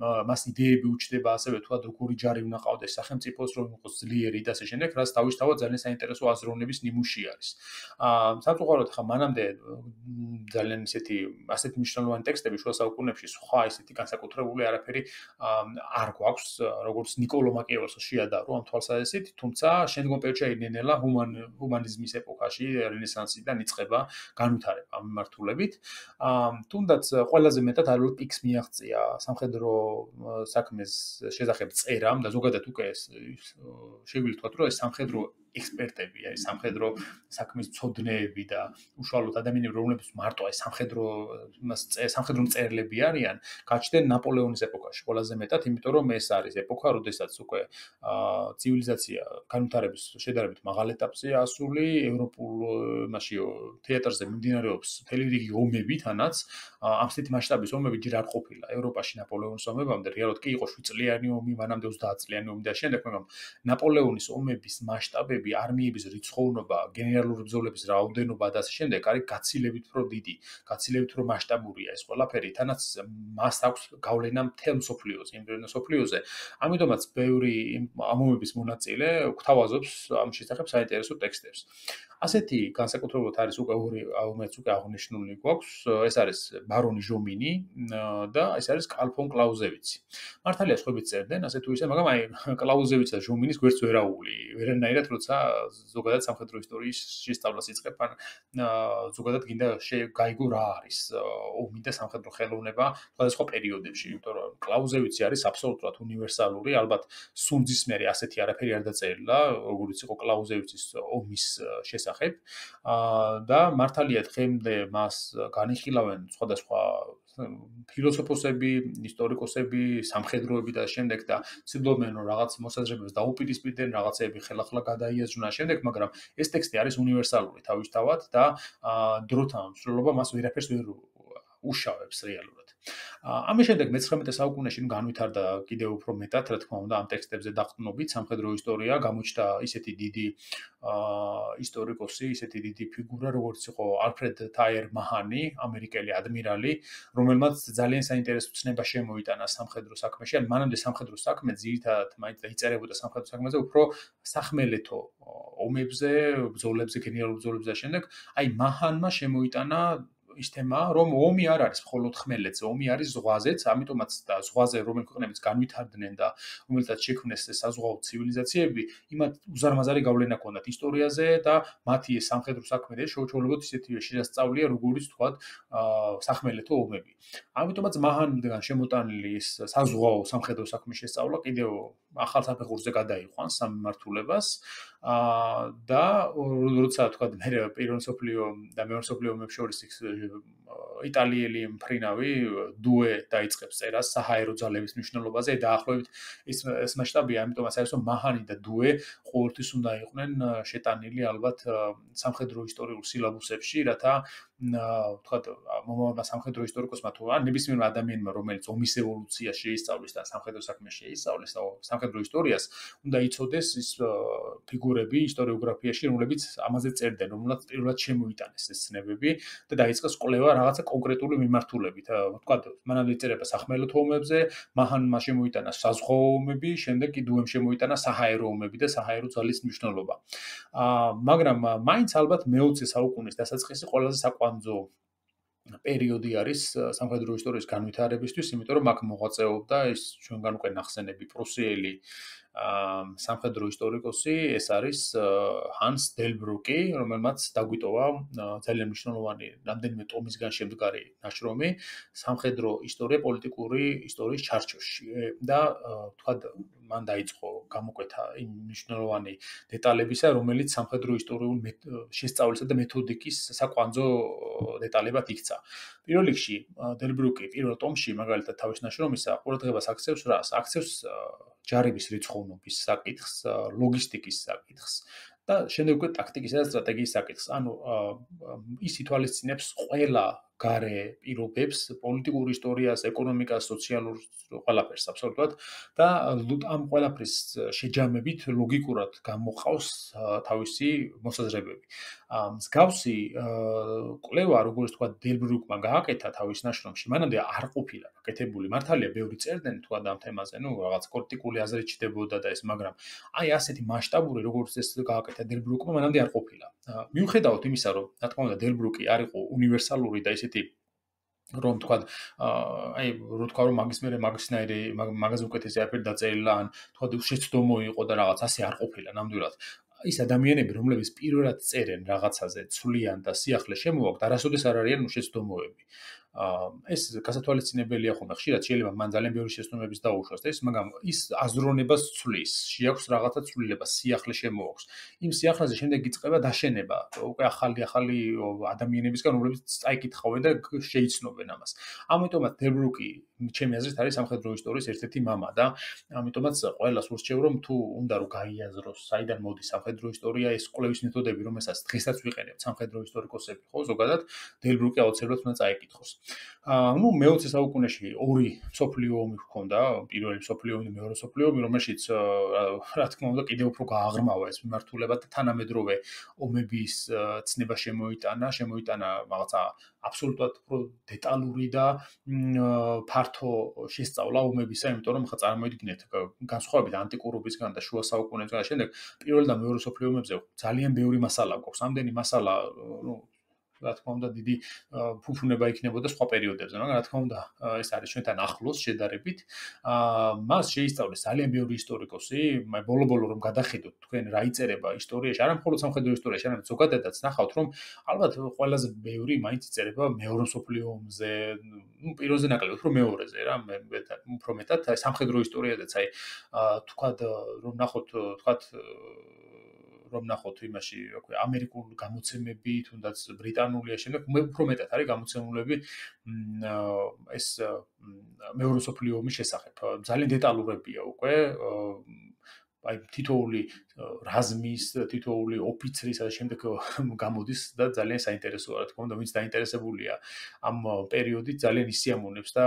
მას იდეები უჩნდება ასევე თუად როგორი ჯარი უნდა ყავდეს სახელმწიფოს, რომ იყოს ძლიერი და ასე შემდეგ, რაც თავისთავად ძალიან საინტერესო აზროვნების ნიმუში არის. სამწუხაროდ ხა მანამდე ძალიან ასეთი მნიშვნელოვანი ტექსტები შუა საუკუნეებში სხვა ისეთი განსაკუთრებული არაფერი არ გვაქვს, როგორც ნიკოლო მაკიაველს შეადარო ამ თვალსაზრისით, თუმცა შემდგომ პერიოდში ნელ-ნელა ჰუმანიზმის ეპოქაში რენესანსიდან იწყება განვითარება ამ მიმართულებით. თუნდაც ყველაზე მეტად ალბათ პიკს მიაღწია სამხედრო საქმეს შესახებ წერამ და ზოგადად უკვე შეგვიძლია ვთქვათ, რომ ეს სამხედრო ექსპერტები, აი სამხედრო საქმის მცოდნეები და უშუალოდ ადამიანები, რომლებიც მარტო აი სამხედრო მწერლები არიან, გაჩნდნენ ნაპოლეონის ეპოქაში ყველაზე მეტად, იმიტომ რომ ეს არის ეპოქა, როდესაც უკვე ცივილიზაცია განვითარების შედარებით მაღალ ეტაპზეა ასული, ევროპულ თეატრზე მიმდინარეობს მთელი რიგი ომები, თანაც ამ ასეთი მასშტაბის ომები ჯერ არ ყოფილა ევროპაში ნაპოლეონის ომებამდე, რეალურად კი იყო 7 წლიანი ომი, მანამდე 30 წლიანი ომი და შემდეგ, მაგრამ ნაპოლეონის ომების მასშტაბები, არმიების რიცხოვნობა, გენერალური ბრძოლების რაოდენობა და ასე შემდეგ არის გაცილებით უფრო დიდი, გაცილებით უფრო მასშტაბურია ეს ყველაფერი, თანაც მას აქვს გავლენა მთელ მსოფლიოზე, იმდროინდელ მსოფლიოზე. ამიტომაც ბევრი ამ ომების მონაწილე გვთავაზობს ამ შესახებ საინტერესო ტექსტებს. ასეთი განსაკუთრებულად არის უკვე ორი რომელიც უკვე აღნიშნული გვაქვს, ეს არის ბარონი ჟომინი და ეს არის კარლ ფონ კლაუზევიცი. მართალია სხვაებიც წერდნენ ასე თუ ისე, მაგრამ აი კლაუზევიჩს და ჟომინის გვერდს ვერ აუვლი. ვერანაირად როცა ზოგადად სამხედრო ისტორიის შესწავლას იწყებ, ან ზოგადად გინდა გაიგო რა არის ომი და სამხედრო ხელოვნება სხვადასხვა პერიოდებში, იმიტომ რომ კლაუზევიცი არის აბსოლუტურად უნივერსალური, ალბათ სუნძის მერე ასეთი არაფერი არ დაწერილა, როგორც იყო კლაუზევიცის ომის შესახებ. და მართალია დღემდე მას განიხილავენ სხვადასხვა ფილოსოფოსები, ისტორიკოსები, სამხედროები და შემდეგ და ცდილობენ რომ რაღაც მოსაზრებებს დაუპირისპირდნენ, რაღაცეები ხელახლა გადაიაზრუნა შემდეგ, მაგრამ ეს ტექსტი არის უნივერსალური თავისთავად და დროთა მსვლელობა მას ვერაფერს ვერ უშავებს რეალურად. ამის შემდეგ მე-19 საუკუნეში განვითარდა კიდევ უფრო მეტად, რა თქმა უნდა, ამ ტექსტებზე დაყრდნობით სამხედრო ისტორია, გამოჩნდა ისეთი დიდი ისტორიკოსი, ისეთი დიდი ფიგურა, როგორც იყო ალფრედ თაიერ მაჰანი, ამერიკელი ადმირალი, რომელმაც ძალიან საინტერესო ცნება შემოიტანა სამხედრო საქმეში. ან მანამდე სამხედრო საქმე ძირითადად მაინც დაიწერებოდა სამხედრო საქმეზე, უფრო სახმელეთო ომებზე, ბრძოლებზე, გენერალურ ბრძოლებზე და შემდეგ, აი მაჰანმა შემოიტანა ის თემა, რომ ომი არ არის მხოლოდ ხმელეთზე, ომი არის ზღვაზეც, ამიტომაც და ზღვაზე რომელი ქვეყნებიც განვითარდნენ და რომელთაც შექმნეს საზღვაო ცივილიზაციები, იმათ უზარმაზარი გავლენა ჰქონდათ ისტორიაზე და მათი ეს სამხედრო საქმე შეუჩვეულებოდ ისეთივე შესწავლია, როგორც თქვათ, სახმელეთო ომები. ამიტომაც მაჰანიდან შემოტანილი ეს საზღვაო სამხედრო საქმის შესწავლა კიდევ ახალ საფეხურზე გადაიყვანს ამ მიმართულებას და როცა თქვათ მე პირველ მსოფლიო და მეორე მსოფლიო ომებს შორის იტალიელი მფრინავი დუე დაიწყებს წერას საჰაერო ძალების მნიშვნელობაზე დაახლოებით ეს მასშტაბია, ამიტომაც არის რომ მაჰანი და დუე ყოველთვის უნდა იყვნენ შეტანილი ალბათ სამხედრო ისტორიულ სილაბუსებში, რათა ვთქვათ, მომავალმა სამხედრო ისტორიკოსმა თუ ან ნებისმიერ ადამიანმა, რომელიც ომის ევოლუციაში შეისწავლის და სამხედრო საქმეს შეისწავლის, სამხედრო ისტორიას, უნდა იცოდეს ის ფიგურები ისტორიოგრაფიაში, რომლებიც ამაზე წერდნენ, რომელსაც პირველად შემოიტანეს ეს ცნებები და დაიწყეს კვლევა რაღაცა კონკრეტული მიმართულებით. ვთქვათ, მანამდე იწერება სახმელეთო ომებზე, მან შემოიტანა საზღვაო ომები, შემდეგ კი დუემ შემოიტანა საჰაერო ომები და საჰაერო ძალის მნიშვნელობა. მაგრამ მაინც ალბათ მე-20 საუკუნის დასაწყისი ყველაზე საკვანძო პერიოდი არის სამხედრო ისტორიის განვითარებისთვის, იმიტომ რომ აქ მოღვაწეობდა ის ჩვენგან უკვე ნახსენები პრუსიელი სამხედრო ისტორიკოსი, ეს არის ჰანს დელბრუკი, რომელმაც დაგვიტოვა ძალიან მნიშვნელოვანი რამდენიმე ტომისგან შემდგარი ნაშრომი სამხედრო ისტორია პოლიტიკური ისტორიის ჩარჩოში და თქვათ მან დაიწყო გამოკვეთა იმ მნიშვნელოვანი დეტალებისა, რომელიც სამხედრო ისტორიულ შესწავლისა და მეთოდიკის საკვანძო დეტალებად იქცა. პირველ რიგში დელბრუკი პირველ ტომში მაგალითად თავის ნაშრომისა ყურადღებას აქცევს რას? აქცევს ჯარების რიცხოვნობის საკითხს, ლოგისტიკის საკითხს და შემდეგ უკვე ტაქტიკისა და სტრატეგიის საკითხს. ანუ ის ითვალისწინებს ყველა გარე პირობებს, პოლიტიკურ ისტორიას, ეკონომიკას, სოციალურ ყველაფერს აბსოლუტურად და ამ ყველაფრის შეჯამებით ლოგიკურად გამოყავს თავისი მოსაზრებები. მსგავსი კვლევა, როგორც თქვა დელბრუკმა გააკეთა თავის ნაშრომში, მანამდე არ ყოფილა გაკეთებული. მართალია, ბევრი წერდნენ თქვა ამ თემაზე, რაღაც კრიტიკული აზრით ჩდებოდა და ეს, მაგრამ აი ასეთი მასშტაბური, როგორც ეს გააკეთა დელბრუკმა, მანამდე არ ყოფილა. მიუხედავად იმისა, რომ რა თქმა უნდა დელბრუკი არ იყო უნივერსალური და ისეთი რომ თქვა აი რო თქვა რომ მაგაზე უკეთესი არაფერი დაწერილა ან თქვა შეცდომო იყო და რაღაც ასე არ ყოფილა ნამდვილად. ის ადამიანები, რომლებიც პირველად წერენ რაღაცაზე, ცვლიან და სიახლე შემოაქვთ, არასოდეს არ არიან შეცდომოები. ეს გასათვალისწინებელია ხოლმე. ხშირად შეიძლება მან ძალიან ბევრი შეცდომების დაუშვას და ის, მაგრამ ის აზროვნებას ცვლის, შეაქვს რაღაცა ცვლილება, სიახლე შემოაქვს. იმ სიახლეზე შემდეგ იწყება დაშენება, უკვე ახალი ადამიანებისგან, რომლებიც წაიკითხავენ და შეიცნობენ ამას. ამიტომაც დელბრუკი, ჩემი აზრით, არის სამხედრო ისტორიის ერთ-ერთი მამა და ამიტომაც ყველას ურჩევ, რომ თუ უნდა რომ გაიაზროს, საიდან მოდის სამხედრო ისტორია, ეს კვლევის მეთოდები, რომელსაც დღესაც ვიყენებთ სამხედრო ისტორიკოსები, ხო, ზოგადად დელბრუკი აუცილებლად უნდა წაიკითხოს. ნუ მე-20 საუკუნეში ორი მსოფლიო ომი ჰქონდა, პირველი მსოფლიო ომი და მეორე მსოფლიო ომი, რომელშიც რა თქმა უნდა კიდევ უფრო გააღრმავა ეს მიმართულება და თანამედროვე ომების ცნება შემოიტანა რაღაცა აბსოლუტურად უფრო დეტალური და ფართო შესწავლა ომებისა, იმიტომ რომ ხა წარმოიდგინეთ განსხვავებით ანტიკურობისგან და შუა საუკუნეებისგან შემდეგ პირველ და მეორე მსოფლიო ომებზე ძალიან ბევრი მასალა გვაქვს. ამდენი მასალა, ნუ რა თქმა უნდა დიდი ფუფუნება იქნებოდა სხვა პერიოდებზე, მაგრამ რა თქმა უნდა ეს არის ჩვენთან ახლოს შედარებით. მას შეისწავლეს ძალიან ბევრი ისტორიკოსი, ბოლო-ბოლო რომ გადახედოთ თქვენ რა იწერება ისტორიაში, არა მხოლოდ სამხედრო ისტორიაში, არამედ ზოგადადაც ნახავთ, რომ ალბათ ყველაზე ბევრი მაინც იწერება მეორე მსოფლიო ომზე, ნუ პირველზე ნაკლები, უფრო მეორეზე რა, უფრო მეტად სამხედრო ისტორიაზეც, აი თქვათ რომ ნახოთ იმაში, რა ქვია, ამერიკულ გამოცემები, თუნდაც ბრიტანულია შემდეგ, უფრო მეტად არის გამოცემულები ეს მეორე მსოფლიო ომის შესახებ. ძალიან დეტალურებია უკვე აი თითოეული რაზმის, თითოეული ოფიცრის და შემდეგ გამოდის და ძალიან საინტერესოა, რა თქმა უნდა, ვინც დაინტერესებულია ამ პერიოდით, ძალიან ისიამოვნებს და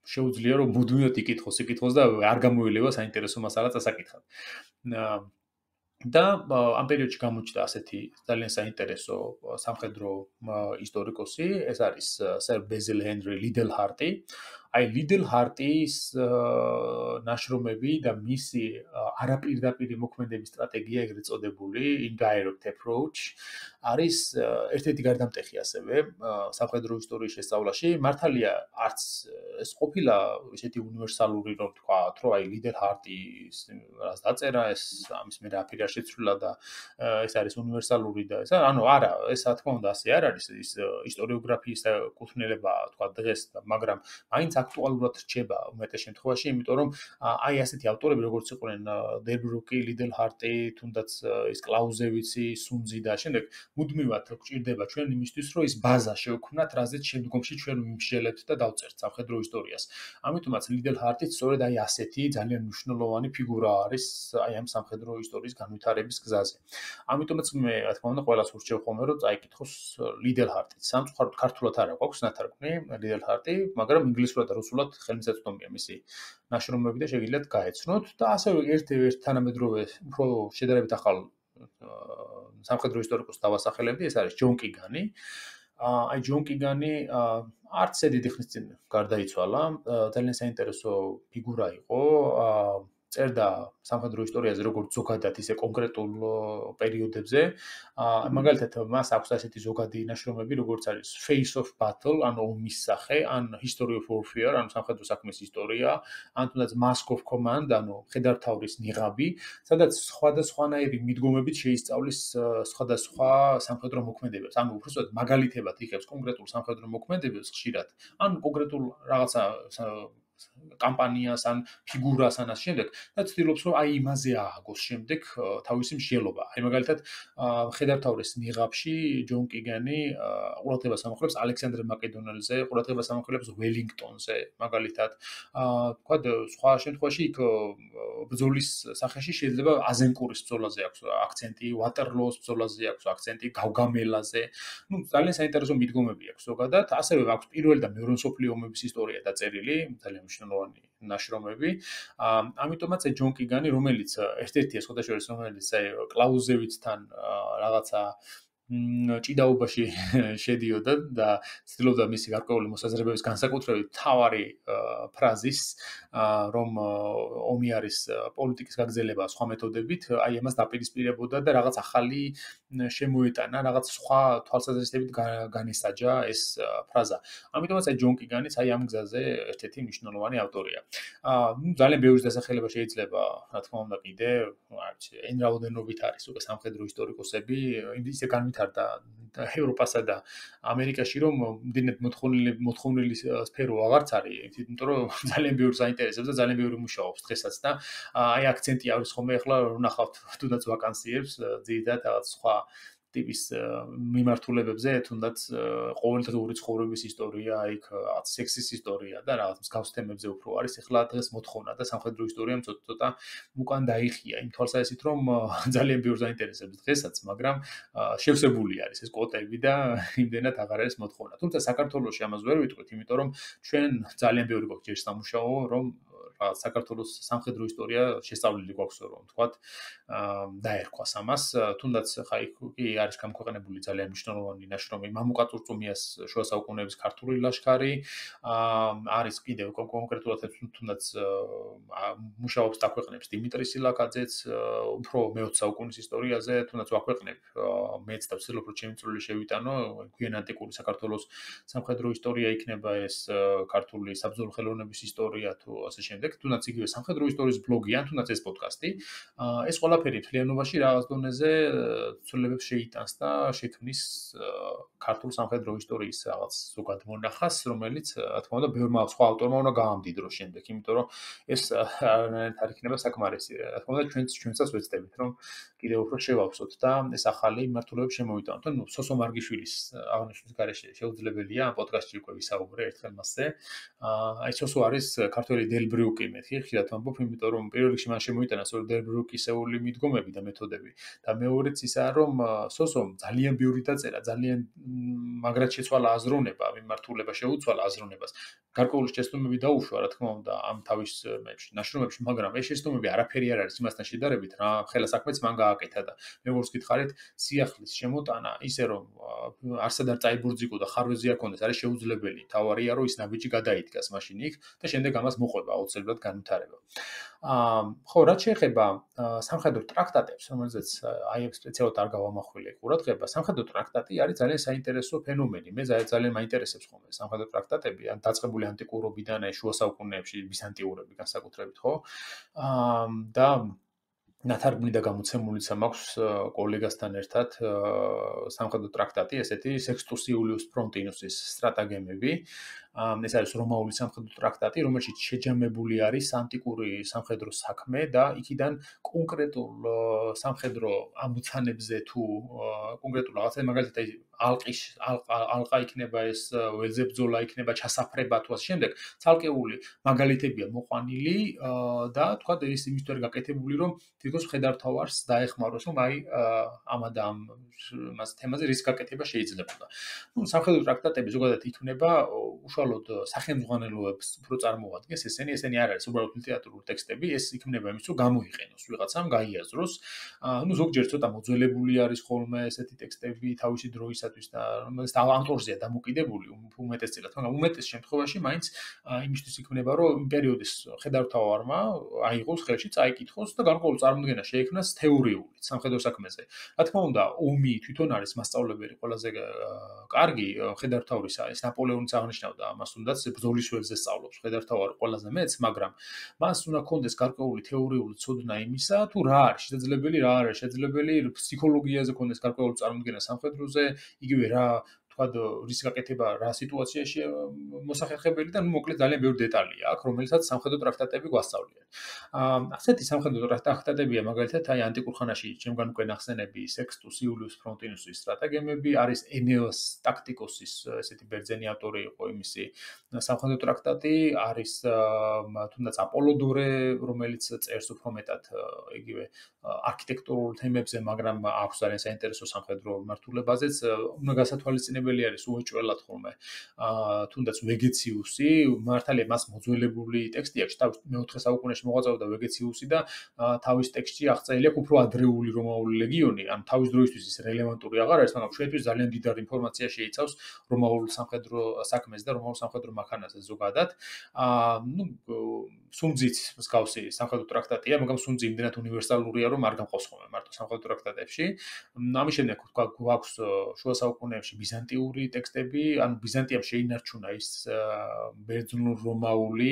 შეუძლია რომ მუდმივად იკითხოს და არ გამოილევა საინტერესო მასალა წასაკითხად. და ამ პერიოდში გამოჩნდა ასეთი ძალიან საინტერესო სამხედრო ისტორიკოსი, ეს არის სერ ბეზილ ჰენრი ლიდელჰარტი. აი ლიდელჰარტის ნაშრომები და მისი არაპირდაპირი მოქმედების სტრატეგია, ეგრეთ წოდებული indirect approach არის ერთ-ერთი გარდამტეხი ასევე სამხედრო ისტორიის შესწავლაში. მართალია არც ეს ყოფილა ისეთი უნივერსალური, რომ თქვათ, რომ აი ლიდელჰარტის რას დაწერა, ეს ამის მე რაფერი არ შეცვლილა და ეს არის უნივერსალური და ეს ანუ არა, ეს რა თქმა უნდა ასე არ არის, ის ისტორიოგრაფიის კუთვნილება თქვათ დღეს, მაგრამ მაინც აქტუალურად რჩება უმეტეს შემთხვევაში, იმიტომ რომ აი ასეთი ავტორები როგორც იყვნენ დელ ბრუკი, ლიდელ ჰარტი, თუნდაც ის კლაუზევიცი, სუნძი და შემდეგ მუდმივად გვჭირდება ჩვენ იმისთვის, რომ ის ბაზა შევქმნათ, რაზეც შემდგომში ჩვენ ვიმსჯელებთ და დავწერთ სამხედრო ისტორიას. ამიტომაც ლიდელ ჰარტიც სწორედ აი ასეთი ძალიან მნიშვნელოვანი ფიგურა არის აი ამ სამხედრო ისტორიის განვითარების გზაზე. ამიტომაც მე რა თქმა უნდა ყველას ურჩევ ხოლმე რომ წაიკითხოს ლიდელ ჰარტიც. სამწუხაროდ ქართულად არ აქვს ნათარგმნი ლიდელ ჰარტი, მაგრამ ინგლისურად და რუსულად ხელმისაწვდომია მისი ნაშრომები და შეგიძლიათ გაეცნოთ და ასევე ერთ თანამედროვე უფრო შედარებით ახალ სამხედრო ისტორიკოს დავასახელებდი, ეს არის ჯონ კიგანი. აი ჯონ კიგანი არც დიდი ხნის წინ გარდაიცვალა, ძალიან საინტერესო ფიგურა იყო, წერდა სამხედრო ისტორიაზე როგორც ზოგადად, ისე კონკრეტულ პერიოდებზე. მაგალითად, მას აქვს ასეთი ზოგადი ნაშრომები, როგორც არის Face of Battle, ანუ ომის სახე, ან History of Warfare, ანუ სამხედრო საქმის ისტორია, ან თუნდაც Mask of Command, ანუ მხედართმთავრის ნიღაბი, სადაც სხვადასხვანაირი მიდგომებით შეისწავლის სხვადასხვა სამხედრო მოქმედებებს. ანუ უბრალოდ მაგალითებად იღებს კონკრეტულ სამხედრო მოქმედებებს ხშირად, ან კონკრეტულ რაღაცა კამპანიას ან ფიგურას ან ამ შემდეგ და ცდილობს რომ აი იმაზე ააგოს შემდეგ თავისი მსჯელობა. აი მაგალითად მხედართმთავრის ნიღაბში ჯონ კიგანი ყურადღებას ამახვილებს ალექსანდრე მაკედონელზე, ყურადღებას ამახვილებს ველინგტონზე, მაგალითად. თქვა სხვა შემთხვევაში იქ ბრძოლის სახეში შეიძლება აზენკურის ბრძოლაზე აქვს აქცენტი, ვატერლოოს ბრძოლაზე აქვს აქცენტი, გავგამელაზე. ნუ ძალიან საინტერესო მიდგომები აქვს ზოგადად. ასევე აქვს პირველი და მეორე მსოფლიო ომების ისტორია დაწერილი, ძალიან მნიშვნელოვანი ნაშრომები. ამიტომაც ჯონ კიგანი, რომელიც ერთ-ერთია სხვადასხვა რომელიც კლაუზევიცთან რაღაცა ჭიდაობაში შედიოდა და ცდილობდა მისი გარკვეული მოსაზრებების განსაკუთრებით მთავარი ფრაზის, რომ ომი არის პოლიტიკის გაგრძელება სხვა მეთოდებით, აი ამას დაპირისპირებოდა და რაღაც ახალი შემოეტანა, რაღაც სხვა თვალსაზრისით განესაჯა ეს ფრაზა. ამიტომაც აი ჯონ კიგანიც აი ამ გზაზე ერთ-ერთი მნიშვნელოვანი ავტორია. ძალიან ბევრი დასახელება შეიძლება, რა თქმა უნდა, კიდე, არ ვიცი, εν რაოდენობით არის უკვე სამხედრო ისტორიკოსები, ისე განვითარდა ევროპასა და ამერიკაში, რომ მდენად მოთხოვნილი სფერო აღარც არის, იმიტომ რომ ძალიან ბევრს აინტერესებს და ძალიან ბევრი მუშაობს დღესაც და აი აქცენტი არის ხოლმე ახლა ნახავთ თუნდაც ვაკანსიებს, ძირითადად რაღაც სხვა ტიპის მიმართულებებზე, თუნდაც ყოველდღიური ცხოვრების ისტორია, იქ რაღაც სექსის ისტორია და რაღაც მსგავს თემებზე უფრო არის. ეხლა დღეს მოთხოვნა და სამხედრო ისტორიამ ცოტა უკან დაიხია იმ თვალსაზრისით, რომ ძალიან ბევრს აინტერესებს დღესაც, მაგრამ შევსებული არის ეს კვოტები და იმდენად აღარ არის მოთხოვნა. თუმცა საქართველოში ამას ვერ ვიტყვით, იმიტომ რომ ჩვენ ძალიან ბევრი გვაქვს ჯერ სამუშაო, რომ საქართველოს სამხედრო ისტორია შესწავლილი გვაქვს რომ ვთქვათ, დაერქვას ამას. თუნდაც ხა კი არის გამოქვეყნებული ძალიან მნიშვნელოვანი ნაშრომი მამუკა წურწუმიას შუა საუკუნეების ქართული ლაშქარი, არის კიდევ კონკრეტულად თუნდაც მუშაობს და აქვეყნებს დიმიტრი სილაკაძეც უფრო მე-20 საუკუნის ისტორიაზე, თუნდაც ვაქვეყნებ მეც და ვცდილობ რომ ჩემი წვლილი შევიტანო, გვიან ანტიკური საქართველოს სამხედრო ისტორია იქნება ეს ქართული საბრძოლო ხელოვნების ისტორია თუ ასე შემდეგ. თუნდაც იგივე სამხედრო ისტორიის ბლოგი ან თუნდაც ეს პოდკასტი, ეს ყველაფერი მთლიანობაში რაღაც დონეზე ცვლილებებს შეიტანს და შექმნის ქართულ სამხედრო ისტორიის რაღაც ზოგად მონახას, რომელიც რა თქმა უნდა ბევრმა სხვა ავტორმა უნდა გაამდიდროს შემდეგ, იმიტომ რომ ეს არანაირად არ იქნება საკმარისი. რა თქმა უნდა ჩვენსაც ვეცდებით რომ კიდევ უფრო შევავსოთ და ეს ახალი მიმართულებები შემოვიტანოთ. ანუ სოსო მარგიშვილის აღნიშნვის გარეშე შეუძლებელია ამ პოდკასტში უკვე ვისაუბრე ერთხელ მასზე. აი სოსო არის ქართველი დელ ბრუკი, მეთქი ხშირად ვამბობ, იმიტომ რომ პირველ რიგში მან შემოიტანა სწორედ დელ ბრუკისეული მიდგომები და მეთოდები და მეორეც ისაა რომ სოსომ ძალიან ბევრი დაწერა, ძალიან მაგრად შეცვალა აზროვნება, მიმართულება შეუცვალა აზროვნებას. გარკვეული შეცდომები დაუშვა, რა თქმა უნდა, ამ თავის ნაშრომებში, მაგრამ ეს შეცდომები არაფერი არ არის იმასთან შედარებით, რა ხელა საქმეც მან გააკეთა და როგორც გითხარით, სიახლის შემოტანა, ისე რომ არსად არ წაიბურძიკო და ხარვეზე არ კონდეს, არის შეუძლებელი. თავარია რომ ის ნაბიჯი გადაიდგას მაშინ იქ და შემდეგ ამას მოყვება აუცილებლად განვითარება. ხო, რაც შეეხება სამხედრო ტრაქტატებს, რომელზეც აი სპეციალურად არ გავამახვილე ყურადღება, სამხედრო ტრაქტატი არის ძალიან საინტერესო ფენომენი. მე ძალიან მაინტერესებს ხოლმე სამხედრო ტრაქტატები, ან დაწყებული ანტიკურობიდან აი შუა საუკუნეებში ბიზანტიურები განსაკუთრებით, ხო? და ნათარგმნი და გამოცემულიც მაქვს კოლეგასთან ერთად სამხედრო ტრაქტატი, ესეთი სექსტუს იულიუს ფრონტინუსის სტრატაგემები. ეს არის რომაული სამხედრო ტრაქტატი, რომელშიც შეჯამებული არის ანტიკური სამხედრო საქმე და იქიდან კონკრეტულ სამხედრო ამოცანებზე თუ კონკრეტულ რაღაცა მაგალითად ალყა იქნება ეს ველზებძოლა იქნება ჩასაფრება თუ ასე შემდეგ ცალკეული მაგალითებია მოყვანილი და თქვა ეს იმისთვის გაკეთებული რომ თითქოს მხედართმთავარს დაეხმაროს რომ აი ამა და ამ მას თემაზე რის გაკეთება შეიძლებოდა. ნუ სამხედრო ტრაქტატები ზოგადად იქნება უშუალოდ სახელმძღვანელოებს უფრო წარმოადგენს ესენი არ არის უბრალოდ ლიტერატურული ტექსტები, ეს იქნება იმის რომ გამოიყენოს ვიღაცამ, გაიაზროს. ნუ ზოგჯერ ცოტა მოძველებული არის ხოლმე ესეთი ტექსტები თავისი დროისათვის და რომელიც ავტორზეა დამოკიდებული უმეტესწილად, მაგრამ უმეტეს შემთხვევაში მაინც იმისთვის იქნება რომ იმ პერიოდის მხედართმთავარმა აიღოს ხელში წაიკითხოს და გარკვეული წარმოდგენა შეექმნას თეორიულად სამხედრო საქმეზე. რა თქმა უნდა, ომი თვითონ არის მასწავლებელი ყველაზე კარგი მხედართმთავრისა, ეს ნაპოლეონიც აღნიშნავდა ამას, თუნდაც ბრძოლის ველზე სწავლობს მხედართმთავარი ყველაზე მეც, მაგრამ მას უნდა კონდეს გარკვეული თეორიული ცოდნა იმისა, თუ რა არის შესაძლებელი, რა არ არის შესაძლებელი, ფსიქოლოგიაზე კონდეს გარკვეული წარმოდგენა სამხედროზე, იგივე რა თქვა რის გაკეთება რა სიტუაციაში მოსახერხებელი და ნუ მოკლედ ძალიან ბევრი დეტალია აქვს, რომელსაც სამხედრო ტრაქტატები გვასწავლიან. ასეთი სამხედრო ტრაქტატებია მაგალითად აი ანტიკურ ხანაში ჩემგან უკვე ნახსენები სექსტუს იულიუს ფრონტინუსის სტრატეგემები, არის ენეოს ტაქტიკოსის ესეთი ბერძენი ავტორი იყო იმისი სამხედრო ტრაქტატი, არის თუნდაც აპოლოდორე, რომელიც წერს უფრო მეტად იგივე არქიტექტურულ თემებზე, მაგრამ აქვს ძალიან საინტერესო სამხედრო მართულებაზეც უნდა გასათვალისწინებელი არის უეჭველად ხოლმე თუნდაც ვეგეციუსი, მართალია მას მოძველებული ტექსტი აქვს, თავის მე-4 საუკუნეში მოღვაწეობდა ვეგეციუსი და თავის ტექსტში აღწერილი აქვს უფრო ადრეული რომაული ლეგიონი, ანუ თავის დროისთვის ის რელევანტური აღარ არის, მაგრამ ჩვენთვის ძალიან დიდარ ინფორმაცია შეიცავს რომაულ სამხედრო საქმეს და რომაულ სამხედრო მანქანაზე ზოგადად. ნუ სუნძიც მსგავსი სამხედრო ტრაქტატია, მაგრამ სუნძი იმდენად უნივერსალურია, რომ არ გამყავს ხოლმე მარტო სამხედრო ტრაქტატებში. ამის შემდეგ თქვა გვაქვს შუა საუკუნეებში ბიზანტიური ტექსტები, ანუ ბიზანტიამ შეინარჩუნა ის ბერძნულ-რომაული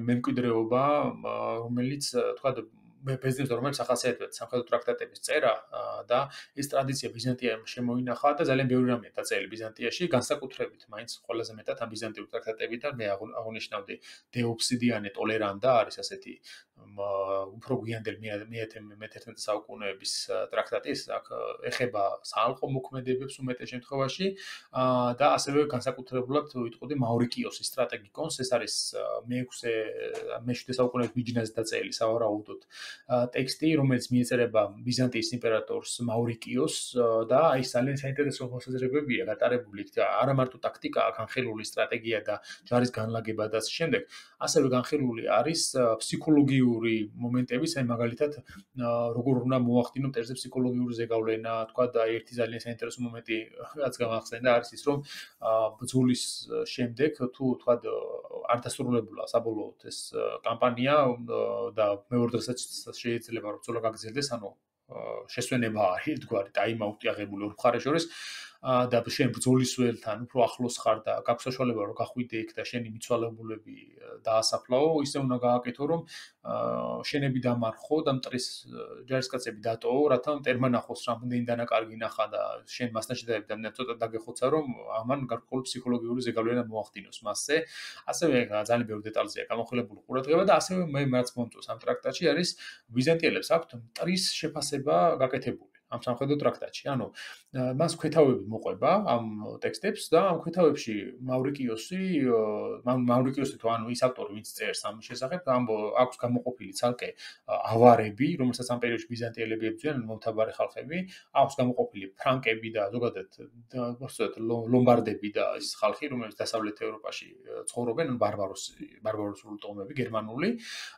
მემკვიდრეობა, რომელიც თქვა ბერძნებს რომელიც ახასიათებდა სამხედრო ტრაქტატების წერა და ეს ტრადიცია ბიზანტიამ შემოინახა და ძალიან ბევრი რამეა დაწერილი ბიზანტიაში, განსაკუთრებით მაინც ყველაზე მეტად ამ ბიზანტიურ ტრაქტატებიდან მე აღნიშნავდი დეოფსიდიანე ტოლერანდა არის ასეთი უფრო გვიანდელი მე-11 საუკუნეების ტრაქტატი, ეს ეხება საალყო მოქმედებებს უმეტეს შემთხვევაში და ასევე განსაკუთრებულად ვიტყოდი მავრიკიოსის სტრატეგიკონს, ეს არის მე-7 საუკუნეების ბიჯინაზე დაწერილი სავარაუდოდ ტექსტი, რომელიც მიეწერება ბიზანტიის იმპერატორს მავრიკიოსს და აი ძალიან საინტერესო მოსაზრებებია გატარებული იქ არა მარტო ტაქტიკა, განხილული სტრატეგია და ჯარის განლაგება და ასე შემდეგ, ასევე განხილული არის ფსიქოლოგიური მომენტებიც, აი მაგალითად როგორ უნდა მოახდინო მტერზე ფსიქოლოგიური ზეგავლენა, თქვა და ერთი ძალიან საინტერესო მომენტი რაც გამახსენდა არის ის, რომ ბრძოლის შემდეგ თუ თქვა არ დასრულებულა საბოლოოდ ეს კამპანია და მეორე დღესაც შეიძლება რომ ბრძოლა გაგრძელდეს, ანუ შესვენება არის ერთგვარი ტაიმაუტი აღებული ორ მხარეს შორის და შენ ბრძოლის ველთან უფრო ახლოს ხარ და გაქვს საშუალება რომ გახვიდე იქ და შენი მიცვალებულები დაასაფლაო, ისე უნდა გააკეთო რომ შენები დამარხო და მტრის ჯარისკაცები დატოო, რათა მტერმა ნახოს რამდენი დანაკარგი ნახა და შენ მასთან შედარებით ცოტა დაგეხოცა რომ ამან გარკვეული ფსიქოლოგიური ზეგავლენა მოახდინოს მასზე. ასევე ძალიან ბევრი დეტალზეა გამოხილებული ყურადღება და ასევე მე რაც მომწონს ამ ტრაქტატში არის ბიზანტიელებს აქვთ მტრის შეფასება გაკეთებული. ამ სამხედრო ტრაქტატში. ანუ მას ქვეთავები მოყვება ამ ტექსტებს და ამ ქვეთავებში მავრიკიოსი თუ ანუ ის ავტორი ვინც წერს ამ შესახებ, აქვს გამოყოფილი ცალკე ავარები, რომელსაც ამ პერიოდში ბიზანტიელები ებრძვიან, მომთაბარე ხალხები, აქვს გამოყოფილი ფრანკები და ზოგადად ლომბარდები და ის ხალხი, რომელიც დასავლეთ ევროპაში ცხოვრობენ, ბარბაროსული ტომები, გერმანული,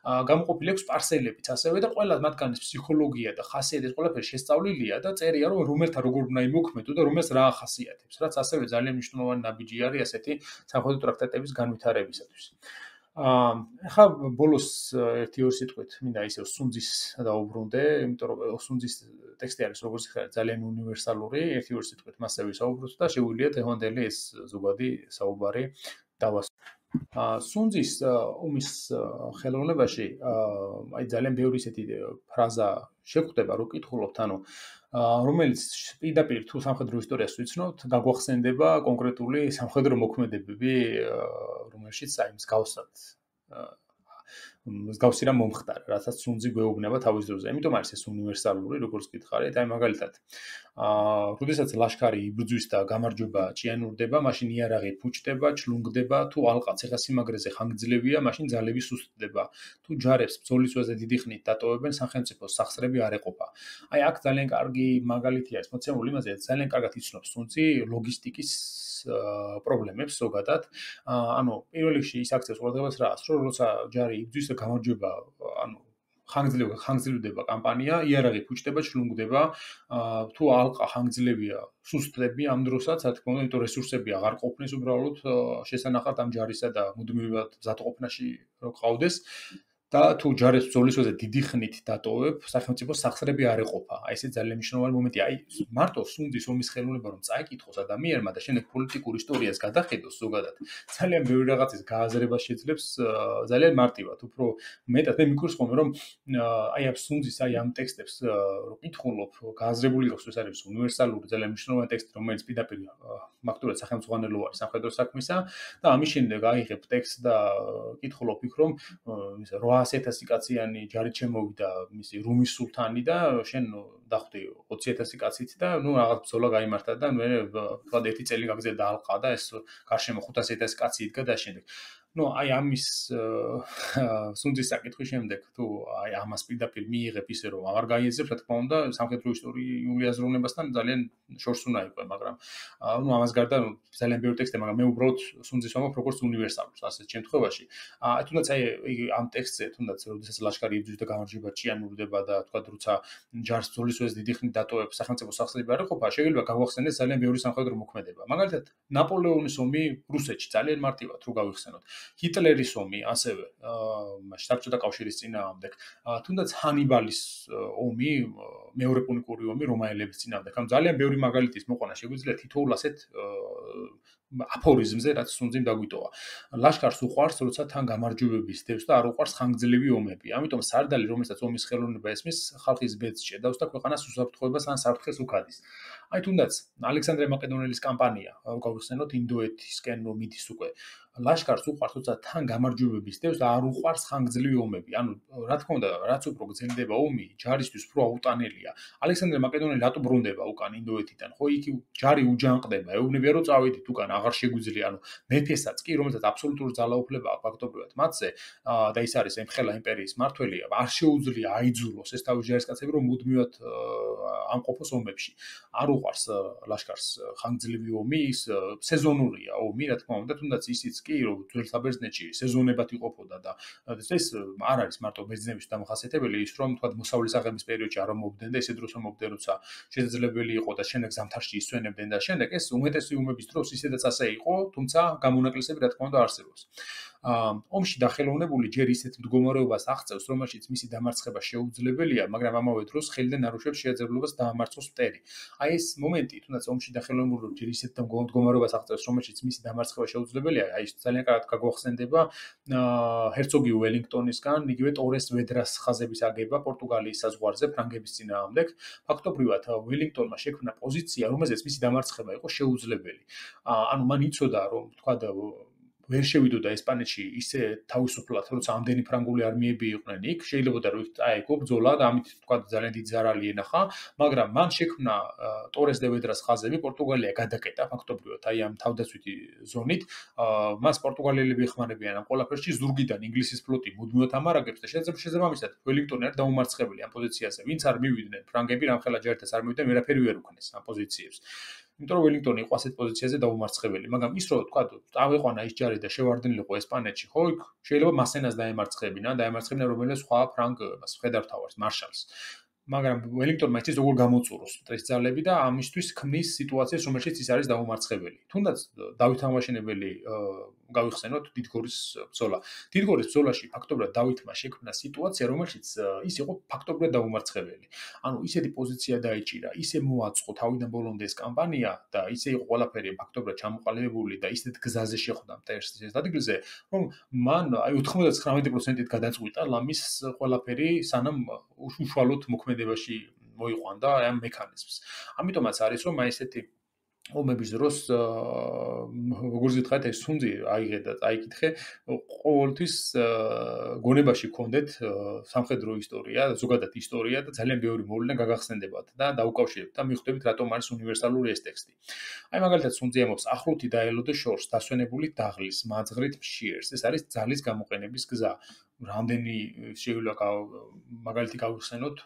გამოყოფილი აქვს სპარსელებიც ასევე და ყველა მათგანის ფსიქოლოგია და ხასიათი ეს ყველაფერი შესწავლილი და წერია რომ რომელთან როგორ უნდა იმოქმედო და რომელს რა ახასიათებს, რაც ასევე ძალიან მნიშვნელოვანი ნაბიჯი არის ასეთი სამხედრო ტრაქტატების განვითარებისათვის. ახლა ბოლოს ერთი-ორი სიტყვით მინდა ისევ სუნძის დაუბრუნდე, იმიტომ რომ სუნძის ტექსტი არის როგორც ხარ ძალიან უნივერსალური, ერთი-ორი სიტყვით მასზე ვისაუბროთ და შეგვიძლია დღევანდელი ეს ზოგადი საუბარი დავასრულოთ. სუნძის ომის ხელოვნებაში აი ძალიან ბევრი ისეთი ფრაზა შეგვხვდება, რომ კითხულობთ, რომელიც პირდაპირ თუ სამხედრო ისტორიას ვიცნობთ, გაგვახსენდება კონკრეტული სამხედრო მოქმედებები, რომელშიც აი მსგავსად მსგავსი რამ მომხდარა, რასაც სუნძი გვეუბნება თავის დროზე. იმიტომ არის ეს უნივერსალური, როგორც გითხარით, აი მაგალითად როდესაც ლაშქარი იბრძვის და გამარჯვება ჭიანურდება, მაშინ იარაღი ფუჭდება, ჩლუნგდება, თუ ალყა ციხესიმაგრეზე ხანგრძლივია, მაშინ ძალები სუსტდება. თუ ჯარებს ბრძოლის ველზე დიდი ხნით დატოვებენ, სახელმწიფოს სახსრები არ ეყოფა. აი აქ ძალიან კარგი მაგალითია ეს მოცემული იმაზე, ძალიან კარგად იცნობს სუნძი ლოგისტიკის პრობლემებს ზოგადად. პირველ რიგში ის აქცევს ყურადღებას რას, რომ როცა ჯარი იბრძვის და გამარჯვება, ხანგრძლივდება კამპანია, იარაღი ფუჭდება, ჩლუნგდება, თუ ალყა ხანგრძლივია, სუსტდება ამ დროსაც, რა თქმა უნდა, იმიტომ რესურსები აღარ ყოფნის უბრალოდ შესანახად ამ ჯარისა და მუდმივად მზადყოფნაში რო ყავდეს. და თუ ჯარებს ბრძოლის ველზე დიდი ხნით დატოვებ, სახელმწიფოს სახსრები არ ეყოფა. აი ეს ძალიან მნიშვნელოვანი მომენტია. აი მარტო სუნძის ომის ხელოვნება რომ წაიკითხოს ადამიანმა და შემდეგ პოლიტიკურ ისტორიას გადახედოს ზოგადად, ძალიან ბევრი რაღაცის გააზრება შეძლებს ძალიან მარტივად. უფრო მეტად მე მიგკურს ხოლმე რომ აი ამ სუნძის აი ამ ტექსტებს რო კითხულობ, გააზრებული იყოს ეს არის უნივერსალური ძალიან მნიშვნელოვანი ტექსტი, რომელიც პირდაპირ ფაქტურად სახელმძღვანელო არის სამხედრო საქმისა და ამის შემდეგ აიღებ ტექსტს და კითხულობ იქ რომ ისე 800,000 კაციანი ჯარით შემოვიდა მისი რუმის სულთანი და შენ დახვდი 20,000 კაცით და ნუ რაღაც ბრძოლა გაიმართა და მე თქვა ერთი წელი გაგზელდა ალყა და ეს გარშემო 500,000 კაცი იდგა და შემდეგ ну, აი ამის სუნძის საკითხვის შემდეგ თუ აი ამას პირდაპირ მიიღებ ისე რომ აღარ გაიაზრებ, რა თქმა უნდა, სამხედრო ისტორიული აზროვნებასთან ძალიან შორს უნდა იყვე, მაგრამ ну, ამას გარდა ძალიან ბევრი ტექსტია, მაგრამ მე უბრალოდ სუნძის ვამბობ როგორც უნივერსალურს ასეთ შემთხვევაში. თუნდაც აი ამ ტექსტზე, თუნდაც როდესაც ლაშქარი იბრძვის და გამარჯვება ჭიანურდება და თქვა როცა ჯარს ბრძოლის ველზე დიდი ხნით დატოვებს, სახელმწიფო სახსრები არ ეყოფა, შეიძლება გავახსენდეს ძალიან ბევრი სამხედრო მოქმედება. მაგალითად, ნაპოლეონის ომი რუსეთში ძალიან მარტივად რო გავიხსენოთ. ჰიტლერის ომი ასევე საბჭოთა კავშირის წინააღმდეგ, თუნდაც ჰანიბალის ომი, მეორე პუნიკური ომი რომაელების წინააღმდეგ. ამ ძალიან ბევრი მაგალითის მოყვანა შეგვიძლია თითოეულ ასეთ აფორიზმზე, რაც სუნძიმ დაგვიტოვა. ლაშქარს უყვარს, როცა თან გამარჯვებების დევს და არ უყვარს ხანგრძლივი ომები. ამიტომ სარდალი, რომელსაც ომის ხელოვნება ესმის, ხალხის ბედს ჭედავს და ქვეყანას უსაფრთხოებას ან საფრთხეს უქადის. აი თუნდაც ალექსანდრე მაკედონელის კამპანია, გავიხსენოთ ინდოეთისკენ რომ მიდის უკვე. ლაშქარს უყვარს, როცა თან გამარჯვებების დევს და არ უყვარს ხანგრძლივი ომები. ანუ რა თქმა უნდა, რაც უფრო გრძელდება ომი, ჯარისთვის უფრო აუტანელია. ალექსანდრე მაკედონელი რატო ბრუნდება უკან ინდოეთიდან? ხო, იქ ჯარი უჯანყდება, ეუბნებია რომ წავედით უკან, აღარ შეგვიძლია. ანუ მეფესაც კი, რომელსაც აბსოლუტური ძალაუფლება აქვს ფაქტობრივად მათზე, და ის არის ემხელა იმპერიის მმართველი, არ შეუძლია აიძულოს ეს თავის ჯარისკაცები რომ მუდმივად ამყოფოს ომებში. არ უყვარს ლაშქარს ხანგრძლივი ომი, ის სეზონურია ომი, რა თქმა უნდა, თუნდაც ისიც კი, რომ ძველ საბერძნეთში სეზონებად იყოფოდა და ეს არ არის მარტო ბერძნების დამახასიათებელი, ის რომ თქვა მოსავლის აღების პერიოდში არ მომობდნენ და ისე დროს მომობდნენ, როცა შესაძლებელი იყო და შემდეგ ზამთარში ისვენებდნენ და შემდეგ ეს უმეტესი ომების დროს ისედაც ასე იყო, თუმცა გამონაკლისები რა თქმა უნდა არსებობს. ომში დახელოვნებული ჯერ ისეთ მდგომარეობას აღწევს, რომელშიც მისი დამარცხება შეუძლებელია, მაგრამ ამავე დროს ხელიდან არუშვებს შეაძლებლობას დაამარცხოს მტერი. აი ეს მომენტი, თუნდაც ომში დახელოვნებული ჯერ ისეთ მდგომარეობას აღწევს, რომელშიც მისი დამარცხება შეუძლებელია, აი ეს ძალიან კარგად გაგვახსენდება ჰერცოგი ველინგტონისგან, იგივე ტორეს ვედრას ხაზების აგება პორტუგალიის საზღვარზე ფრანგების წინააღმდეგ. ფაქტობრივად ველინგტონმა შექმნა პოზიცია, რომელზეც მისი დამარცხება იყო შეუძლებელი. ანუ მან იცოდა, რომ თქვა ვერ შევიდოდა ესპანეთში ისე თავისუფლად, როცა ამდენი ფრანგული არმიები იყვნენ იქ, შეიძლება რომ აეგო ბრძოლა და ამით თქვა ძალიან დიდი ზარალი ენახა, მაგრამ მან შექმნა ტორეს დე ვედრას ხაზები, პორტუგალია გადაკეტა ფაქტობრივად აი ამ თავდაცვითი ზონით, მას პორტუგალიელები ეხმარებიან ამ ყველაფერში, ზურგიდან ინგლისის ფლოტი მუდმივად ამარაგებს და შესაბამისად ველინგტონი არის დაუმარცხებელი ამ პოზიციაზე, ვინც არ მივიდნენ ფრანგები, რამხელა ჯარითაც არ მივიდნენ, ვერაფერი ვერ უქნეს ამ პოზიციებს. იმიტომ რომ ველინგტონი იყო ასეთ პოზიციაზე დაუმარცხებელი, მაგრამ ის რო თქვა, წავეყვანა ის ჯარი და შევარდნილიყო ესპანეთში, ხო, იქ შეიძლება მასენას დაემარცხებინა რომელიმე სხვა ფრანგ მხედართმთავარს, მარშალს. მაგრამ ველინგტონმა იცის როგორ გამოწუროს ეს ძალები და ამისთვის ქმნის სიტუაციას, რომელშიც ის არის დაუმარცხებელი. თუნდაც დავით აღმაშენებელი გავიხსენოთ დიდგორის ბრძოლა. დიდგორის ბრძოლაში ფაქტობრივად დავითმა შექმნა სიტუაცია, რომელშიც ის იყო ფაქტობრივად დაუმარცხებელი. ანუ ისეთი პოზიცია დაიჭირა, ისე მოაწყო თავიდან ბოლომდე ეს კამპანია და ისე იყო ყველაფერი ფაქტობრივად ჩამოყალიბებული და ისეთ გზაზე შეხვდა მტერს ადგილზე, რომ მან აი 99%-ით გადაწყვიტა ლამის ყველაფერი სანამ უშუალოდ მოქმედებაში მოიყვანდა აი ამ მექანიზმს. ამიტომაც არის რომ აი ესეთი ომების დროს როგორც გითხარით ეს სუნძი აიღე და აიკითხე ყოველთვის გონებაში გქონდეთ სამხედრო ისტორია, ზოგადად ისტორია და ძალიან ბევრი მოვლენა გაგახსენდებათ და დაუკავშირებთ და მიხვდებით რატომ არის უნივერსალური ეს ტექსტი. აი მაგალითად სუნძი ამბობს ახლოთი დაელოდო შორს დასვენებული დაღლის მაძღრით მშიერს. ეს არის ძალის გამოყენების გზა. რამდენი შეიძლება მაგალითი გავიხსენოთ,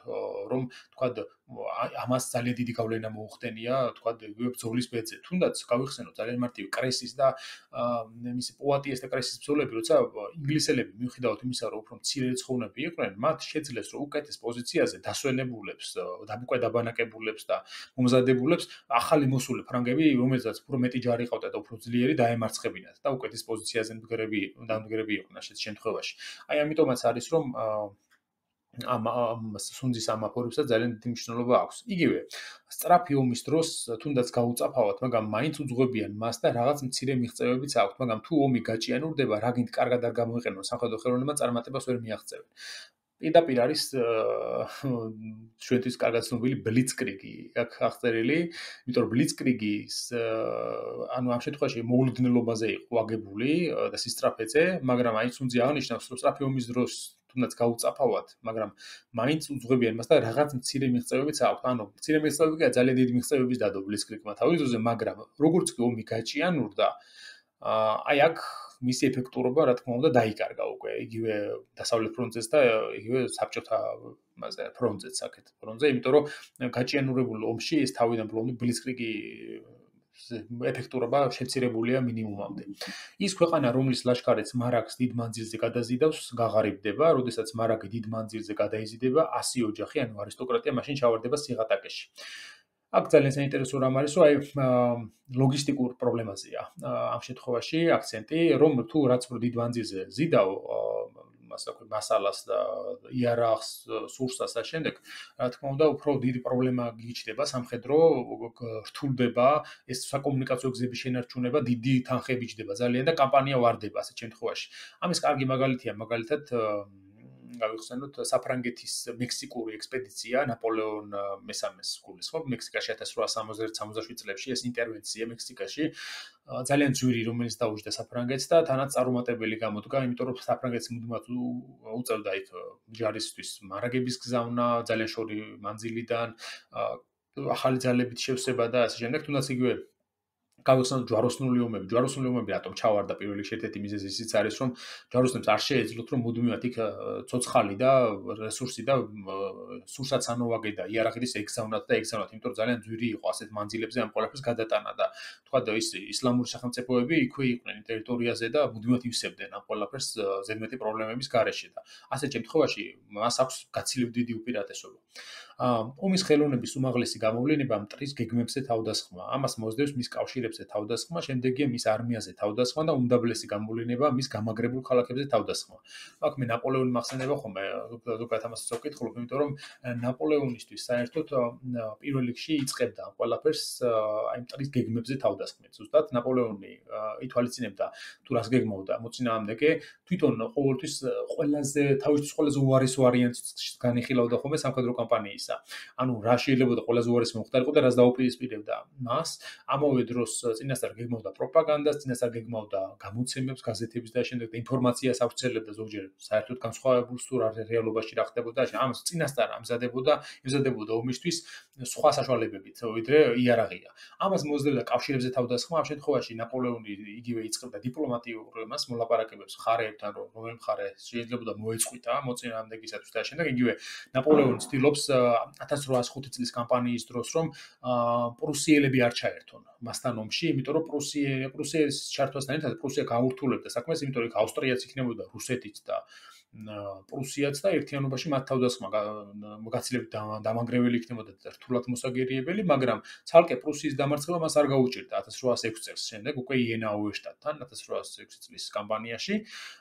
რომ თქვა ამას ძალიან დიდი გავლენა მოუხდენია, თქვა ბრძოლის ბედზე. თუნდაც გავიხსენოთ ძალიან მარტივი კრესის და მისი პუატიეს და კრესის ბრძოლები, როცა ინგლისელები მიუხედავად იმისა, რომ უფრო მცირე ცხოვნები იყვნენ, მათ შეძლეს რომ უკეთეს პოზიციაზე დასვენებულებს, უკვე დაბანაკებულებს და მომზადებულებს ახალი მოსული ფრანგები, რომელსაც უფრო მეტი ჯარი ყავდა და უფრო ძლიერი დაემარცხებინათ და უკეთეს პოზიციაზე მდგრები იყვნენ ასეთ შემთხვევაში. აი ამიტომაც არის რომ ამ სუნძის ამ აფორებსაც ძალიან დიდი მნიშვნელობა აქვს. იგივე სწრაფი ომის დროს თუნდაც გაუწაფავად, მაგრამ მაინც უძღვებიან მას და რაღაც მცირე მიღწევებიც აქვს, მაგრამ თუ ომი გაჭიანურდება, რაგინთ კარგად არ გამოიყენონ სამხედრო ხელოვნებმა წარმატებას ვერ მიაღწევენ. პირდაპირ არის ჩვენთვის კარგად ცნობილი ბლიცკრიგი აქ აღწერილი, იმიტომ რომ ბლიცკრიგის ანუ ამ შემთხვევაში მოულოდნელობაზე იყო აგებული და სისწრაფეზე, მაგრამ აი სუნძი აღნიშნავს, რომ სწრაფი ომის დროს თუნდაც გაუწაფავად, მაგრამ მაინც უძღვებიან მას და რაღაც მცირე მიღწევებიც აქვს. ანუ მცირე მიღწევები კი ძალიან დიდი მიღწევების დადო ბლიცკრიგმა თავის დროზე, მაგრამ როგორც კი ომი გაჭიანურდა, აი აქ მისი ეფექტურობა, რა თქმა უნდა, დაიკარგა უკვე იგივე დასავლეთ ფრონტზეც და იგივე საბჭოთა ფრონტზეც აქეთ ფრონტზე, იმიტომ რომ გაჭიანურებულ ომში ეს თავიდან ბოლომდე ბლიცკრიგი ეფექტურობა შემცირებულია მინიმუმამდე. ის ქვეყანა, რომლის ლაშქარიც მარაგს დიდ მანძილზე გადაზიდავს, გაღარიბდება, როდესაც მარაგი დიდ მანძილზე გადაიზიდება, 100 ოჯახი, ანუ არისტოკრატია მაშინ ჩავარდება სიღატაკეში. აქ ძალიან საინტერესო რამ არის, რომ აი ლოგისტიკურ პრობლემაზეა ამ შემთხვევაში აქცენტი, რომ თუ რაც უფრო დიდ მანძილზე ზიდავ მასალას და იარაღს, სურსას და შემდეგ, რა თქმა უნდა, უფრო დიდი პრობლემა გიჩნდება სამხედრო, რთულდება ეს საკომუნიკაციო გზების შენარჩუნება, დიდი თანხები იჭდება ძალიან და კამპანია ვარდება ასეთ შემთხვევაში. ამის კარგი მაგალითია, მაგალითად გავიხსენოთ საფრანგეთის მექსიკური ექსპედიცია ნაპოლეონ მესამეს გულისხმობ მექსიკაში 1866 წლებში ეს ინტერვენცია მექსიკაში ძალიან ძვირი რომელიც დაუჯდა საფრანგეთს და თანაც წარუმატებელი გამოდგა იმიტომ რომ საფრანგეთს მუდმივად უწევდა იქ ჯარისთვის მარაგების გზავნა ძალიან შორი მანძილიდან ახალი ძალებით შევსება და ასე შემდეგ თუნდაც იგივე გავიხსენოთ ჯვაროსნული ომები რატომ ჩავარდა პირველ რიგში ერთ-ერთი მიზეზი ისიც არის რომ ჯვაროსნებს არ შეეძლოთ რომ მუდმივად იქ ცოცხალი და რესურსი და სურსაც ანოვაგე და იარაღის ეგზავნათ იმიტომ რომ ძალიან ძვირი იყო ასეთ მანძილებზე ამ ყველაფერს გადატანა და თქვა და ის ისლამური სახელმწიფოები იქვე იყვნენ ტერიტორიაზე და მუდმივად ივსებდნენ ამ ყველაფერს ზედმეტი პრობლემების გარეშე და ასეთ შემთხვევაში მას აქვს გაცილებით დიდი უპირატესობა ომის ხელოვნების უმაღლესი გამოვლენება მტრის გეგმებზე თავდასხმა ამას მოსდევს მის კავშირებზე თავდასხმა შემდეგია მის არმიაზე თავდასხმა და უმდაბლესი გამოვლენება მის გამაგრებულ ქალაქებზე თავდასხმა აქ მე ნაპოლეონი მახსენდება ხოლმე ზოგადად ამასაც ვკითხულობ იმიტომ რომ ნაპოლეონისთვის საერთოდ პირველ რიგში იწყებდა ყველაფერს აი მტრის გეგმებზე თავდასხმით ზუსტად ნაპოლეონი ითვალისწინებდა თუ რას გეგმავდა მოწინააღმდეგე თვითონ ყოველთვის თავისთვის ყველაზე უარეს ვარიანტს განიხილავდა ხოლმე სამხედრო კამპანიის ანუ რა შეიძლება ყველაზე უარესი მომხდარიყო და რას დაუპირისპირებდა მას ამავე დროს წინასწარ გეგმავდა პროპაგანდას წინასწარ გეგმავდა გამოცემებს გაზეთების და შემდეგ ინფორმაციას ავრცელებდა ზოგჯერ საერთოდ განსხვავებულ თუ რეალობაში რა ხდებოდა ამას წინასწარ ემზადებოდა ომისთვის სხვა საშუალებებით ვიდრე იარაღია ამას მოსდევდა კავშირებზე თავდასხმა ამ შემთხვევაში ნაპოლეონი იგივე იწყებდა დიპლომატიურ მას მოლაპარაკებებს მხარეებთან რომელ მხარე შეიძლება მოეწყვიტა მოწინააღმდეგისათვის და შემდეგ იგივე ნაპოლეონი ცდილობს 1805 წლის კამპანიის დროს რომ პრუსიელები არ ჩაერთონ მასთან ომში, იმიტომ რომ პრუსიის ჩართვასთან ერთად პრუსია გაურთულებდა საქმეს, იმიტომ რომ იქ ავსტრიაც იქნებოდა რუსეთიც და პრუსიაც და ერთიანობაში მათ თავდასხმა გაცილებით დამანგრეველი იქნებოდა და რთულად მოსაგერიებელი, მაგრამ ცალკე პრუსიის დამარცხება მას არ გაუჭირდა 1806 წელს. შემდეგ უკვე იენაუერშტატთან 1806 წლის კამპანიაში.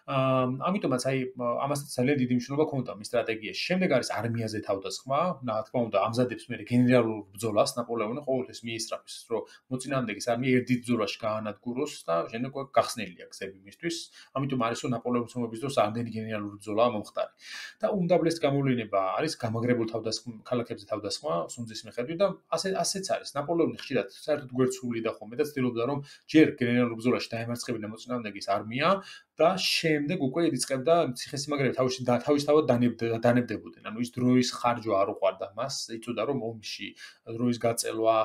ამიტომაც აი ამასაც ძალიან დიდი მნიშვნელობა ჰქონდა მის სტრატეგიაში. შემდეგ არის არმიაზე თავდასხმა, რა თქმა უნდა, ამზადებს მე გენერალურ ბრძოლას ნაპოლეონი ყოველთვის მიისწრაფის, რომ მოწინააღმდეგეს არმია ერთ დიდ ბრძოლაში გაანადგუროს და შემდეგ უკვე გახსნილია გზები მისთვის. ამიტომ არის რომ ნაპოლეონის ომების დროს ამდენი გენერალური ბრძოლაა მომხდარი. და უმდაბლეს გამოვლენა არის გამაგრებულ ქალაქებზე თავდასხმა სუნძის მიხედვით და ასეც არის. ნაპოლეონი ხშირად საერთოდ გვერდსული და ხოლმე და ცდილობდა რომ ჯერ გენერალურ ბრძოლაში დაემარცხებინა მოწინააღმდეგის არმია და შემდეგ უკვე იწყებდა ციხესიმაგრეები თავისთავად დანებდებოდნენ. ანუ ის დროის ხარჯვა არ უყვარდა მას, იწოდა რომ ომში დროის გაწელვა,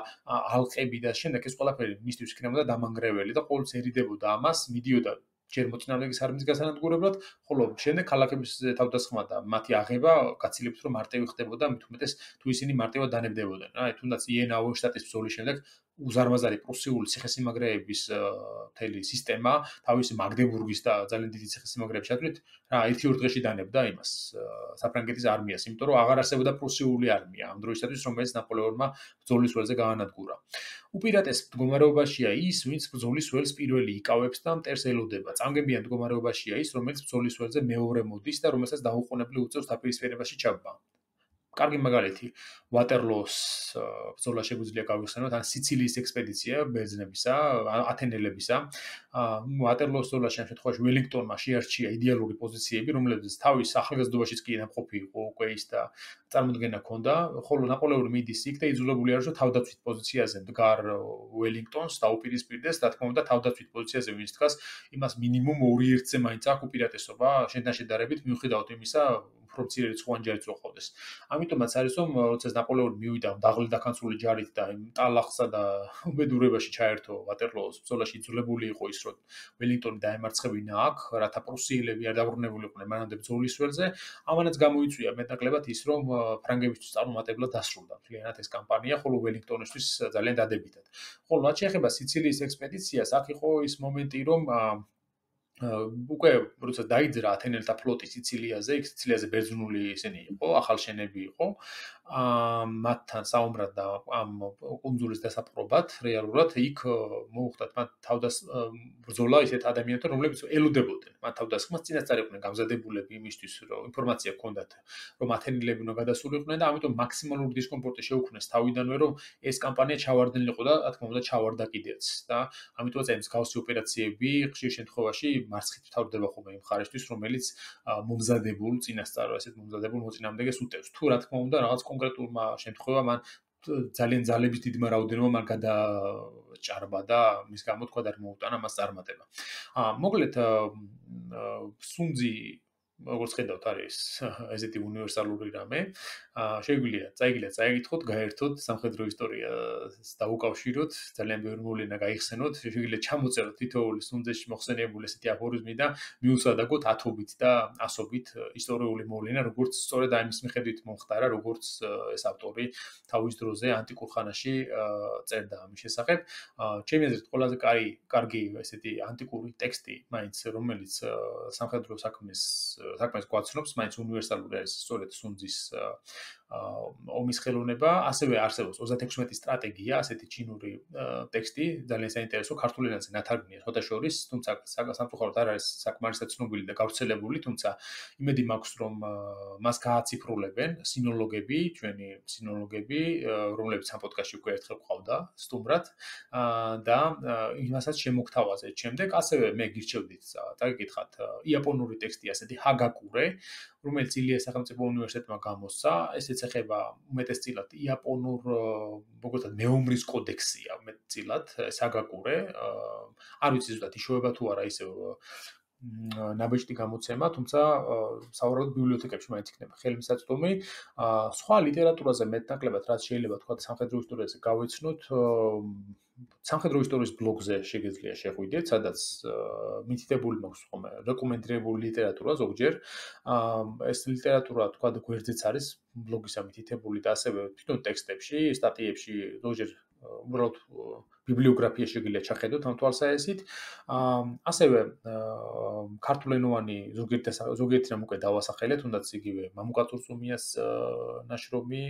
ალყები და შემდეგ ეს ყველაფერი მისთვის იქნებოდა დამანგრეველი და ყოველთვის ერიდებოდა ამას, მიდიოდა ჯერ მოწინააღმდეგის არმიის გასანადგურებლად, ხოლო შემდეგ ქალაქების თავდასხმა და მათი აღება გაცილებით რომ მარტივი ხდებოდა, მით უმეტეს თუ ისინი მარტივად დანებდებოდნენ. აი თუნდაც იენაუერშტატის ბრძოლის შემდეგ უზარმაზარი პრუსიული ციხესიმაგრეების მთელი სისტემა თავისი მაგდებურგის და ძალიან დიდი ციხესიმაგრეების ჩათვლით რა 1-2 დღეში დანებდა იმას საფრანგეთის არმიას, იმიტომ რომ აღარ არსებობდა პრუსიული არმია ამ დროისათვის, რომელიც ნაპოლეონმა ბრძოლის ველზე გაანადგურა. უპირატეს მდგომარეობაშია ის, ვინც ბრძოლის ველს პირველი იკავებს და მტერს ელოდება. წამგებიან მდგომარეობაშია ის, რომელიც ბრძოლის ველზე მეორე მოდის და რომელსაც დაუყოვნებლივ უწევს დაპირისპირებაში ჩაბმა. კარგი მაგალითი ვატერლოოს ბრძოლა შეგვიძლია გავიხსენოთ, ან სიცილიის ექსპედიცია ბერძნებისა, ათენელებისა. ვატერლოოს ბრძოლაში ამ შემთხვევაში ველინგტონმა შეარჩია იდეალური პოზიციები, რომლებიც თავის ახალგაზრდობაშიც კი ნამყოფი იყო უკვე ის და წარმოდგენა ჰქონდა, ხოლო ნაპოლეონი მიდის იქ და იძულებული არის, რომ თავდაცვით პოზიციაზე მდგარ ველინგტონს დაუპირისპირდეს, რა თქმა უნდა, თავდაცვით პოზიციაზე ვინც დგას, იმას მინიმუმ 2-1-ზე მაინც აქვს უპირატესობა შენთან შედარებით, მიუხედავად იმისა, უფრო მცირე რიცხვოვანი ჯარიც რო ყავდეს. ამიტომაც არის რომ როცა ნაპოლეონი მივიდა დაღლილ-დაქანწული ჯარით და იმ ტალახსა და უბედურებაში ჩაერთო ვატერლოოს ბრძოლაში იძულებული იყო ის რომ ველინგტონი დაემარცხებინა აქ, რათა პრუსიელები არ დაბრუნებულიყვნენ მანამდე ბრძოლის ველზე, ამანაც გამოიწვია მეტნაკლებად ის რომ ფრანგებისთვის წარუმატებლად დასრულდა მთლიანად ეს კამპანია, ხოლო ველინგტონისთვის ძალიან დადებითად. ხოლო რაც შეეხება სიცილიის ექსპედიციას, აქ იყო ის მომენტი რომ უკვე როცა დაიძრა ათენელთა ფლოტი სიცილიაზე, იქ სიცილიაზე ბერძნული ისინი იყო, ახალშენები იყო. მათთან საუბრად და ამ კუნძულის დასაპყრობად რეალურად იქ მოუხდათ მათ ბრძოლა ისეთ ადამიანთან, რომლებიც ელოდებოდნენ მათ თავდასხმას, წინასწარ იყვნენ გამზადებულები იმისთვის, რომ ინფორმაცია ჰქონდათ, რომ ათენელები უნდა გადასულიყვნენ და ამიტომ მაქსიმალური დისკომფორტი შეუქმნეს თავიდანვე, რომ ეს კამპანია ჩავარდნილი იყო და რა თქმა უნდა ჩავარდა კიდეც და ამიტომაც აი მსგავსი ოპერაციები ხშირ შემთხვევაში მარცხით თავდება ხოლმე იმ ხარისთვის, რომელიც მომზადებულ წინასწარ ესეთ მომზადებულ მოწინააღმდეგეს უტევს. თუ რა თქმა უნდა რაღაც კონკრეტულმა შემთხვევამ მან ძალიან ძალების დიდმა რაოდენობამ არ გადაჭარბა და მის გამო თქვა და არ მოუტანა მას წარმატება. მოკლედ სუნძი როგორც ხედავთ არის ესეთი უნივერსალური რამე. შეგვიძლია წაიკითხოთ, გაერთოთ სამხედრო ისტორიას დაუკავშიროთ, ძალიან ბევრი მოვლენა გაიხსენოთ, შეგვიძლია ჩამოწეროთ თითოეული სუნძეში მოხსენიებული ესეთი აფორიზმი და მიუსადაგოთ ათობით და ასობით ისტორიული მოვლენა, როგორც სწორედ ამის მიხედვით მომხდარა, როგორც ეს ავტორი თავის დროზე ანტიკურ ხანაში წერდა ამის შესახებ. ჩემი აზრით ყველაზე კარგი ესეთი ანტიკური ტექსტი, მაინც რომელიც სამხედრო საქმეს გვაცნობს, მაინც უნივერსალური არის სწორედ სუნძის ომის ხელოვნება, ასევე არსებობს 36 სტრატეგია, ასეთი ჩინური ტექსტი, ძალიან საინტერესო, ქართულ ენაზე ნათარგმნია სხვათა შორის, თუმცა სამწუხაროდ არ არის საკმარისად ცნობილი და გავრცელებული, თუმცა იმედი მაქვს, რომ მას გააციფრულებენ ჩვენი სინოლოგები, რომლებიც ამ პოდკასტში უკვე ერთხელ ყავდა სტუმრად და იმასაც შემოგთავაზეთ შემდეგ, ასევე მე გირჩევდით დაგეკითხათ იაპონური ტექსტი ასეთი ჰაგაკურე, რომელიც ილიას სახელმწიფო უნივერსიტეტმა გამოსცა, ესეც ეხება უმეტესწილად იაპონურ როგორცად მეომრის კოდექსია უმეტესწილად ჰაგაკურე, არ ვიცი ზუსტად იშოვება თუ არა ისევ ნაბეჭდი გამოცემა, თუმცა სავარაუდოდ ბიბლიოთეკებში მაინც იქნება ხელმისაწვდომი. სხვა ლიტერატურაზე მეტნაკლებად რაც შეიძლება თქვა სამხედრო ისტორიაზე გავეცნოთ, სამხედრო ისტორიის ბლოგზე შეგეძლია შეხვიდეთ, სადაც მითითებული მაქვს ხოლმე რეკომენდირებული ლიტერატურა ზოგჯერ. ეს ლიტერატურა თქვა გვერდზეც არის ბლოგისა მითითებული და ასევე თვითონ ტექსტებში, სტატიებში ზოგჯერ უბრალოდ ბიბლიოგრაფია შეგვიძლია ჩახედოთ ამ თვალსაჩინით. ასევე ქართულენოვანი ზოგიერთი რამ უკვე დავასახელეთ, თუნდაც იგივე მამუკა წურწუმიას ნაშრომი,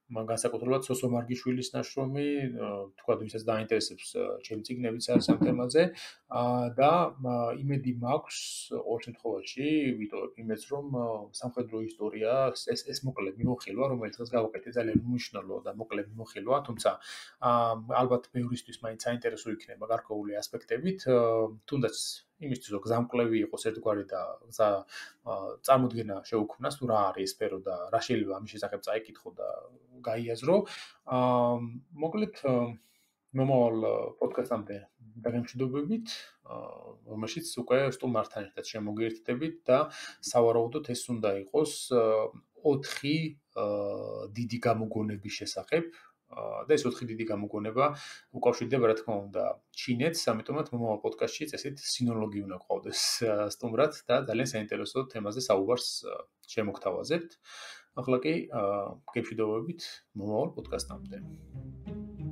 განსაკუთრებულად სოსო მარგიშვილის ნაშრომი, თქვათ, ვისაც დაინტერესებს ჩემი წიგნებიც არის ამ თემაზე და იმედი მაქვს ყოველ შემთხვევაში ვიტოვებ იმედს, რომ სამხედრო ისტორია ეს მოკლე მიმოხილვა, რომელიც დღეს გავაკეთე, ძალიან უმნიშვნელო და მოკლე მიმოხილვა, თუმცა ალბათ ბევრისთვის მაინც საინტერესო იქნება გარკვეული ასპექტებით, თუნდაც იმისთვის, რომ გზამკვლევი იყოს ერთგვარი და გზა წარმოდგენა შეუქმნას, თუ რა არის ეს სფერო და რა შეიძლება ამის შესახებ წაიკითხო და გაიაზრო. მოკლედ მომავალ პოდკასტამდე დაგემშვიდობებით, რომელშიც უკვე სტუმართან ერთად შემოგიერთდებით და სავარაუდოდ ეს უნდა იყოს 4 დიდი გამოგონების შესახებ. და ეს 4 დიდი გამოგონება უკავშირდება, რა თქმა უნდა, ჩინეთს, ამიტომაც მომავალ პოდკასტში წესით სინოლოგი უნდა გყავდეს სტუმრად და ძალიან საინტერესო თემაზე საუბარს შემოგთავაზებთ. ახლა კი გეშვიდობებით მომავალ პოდკასტამდე.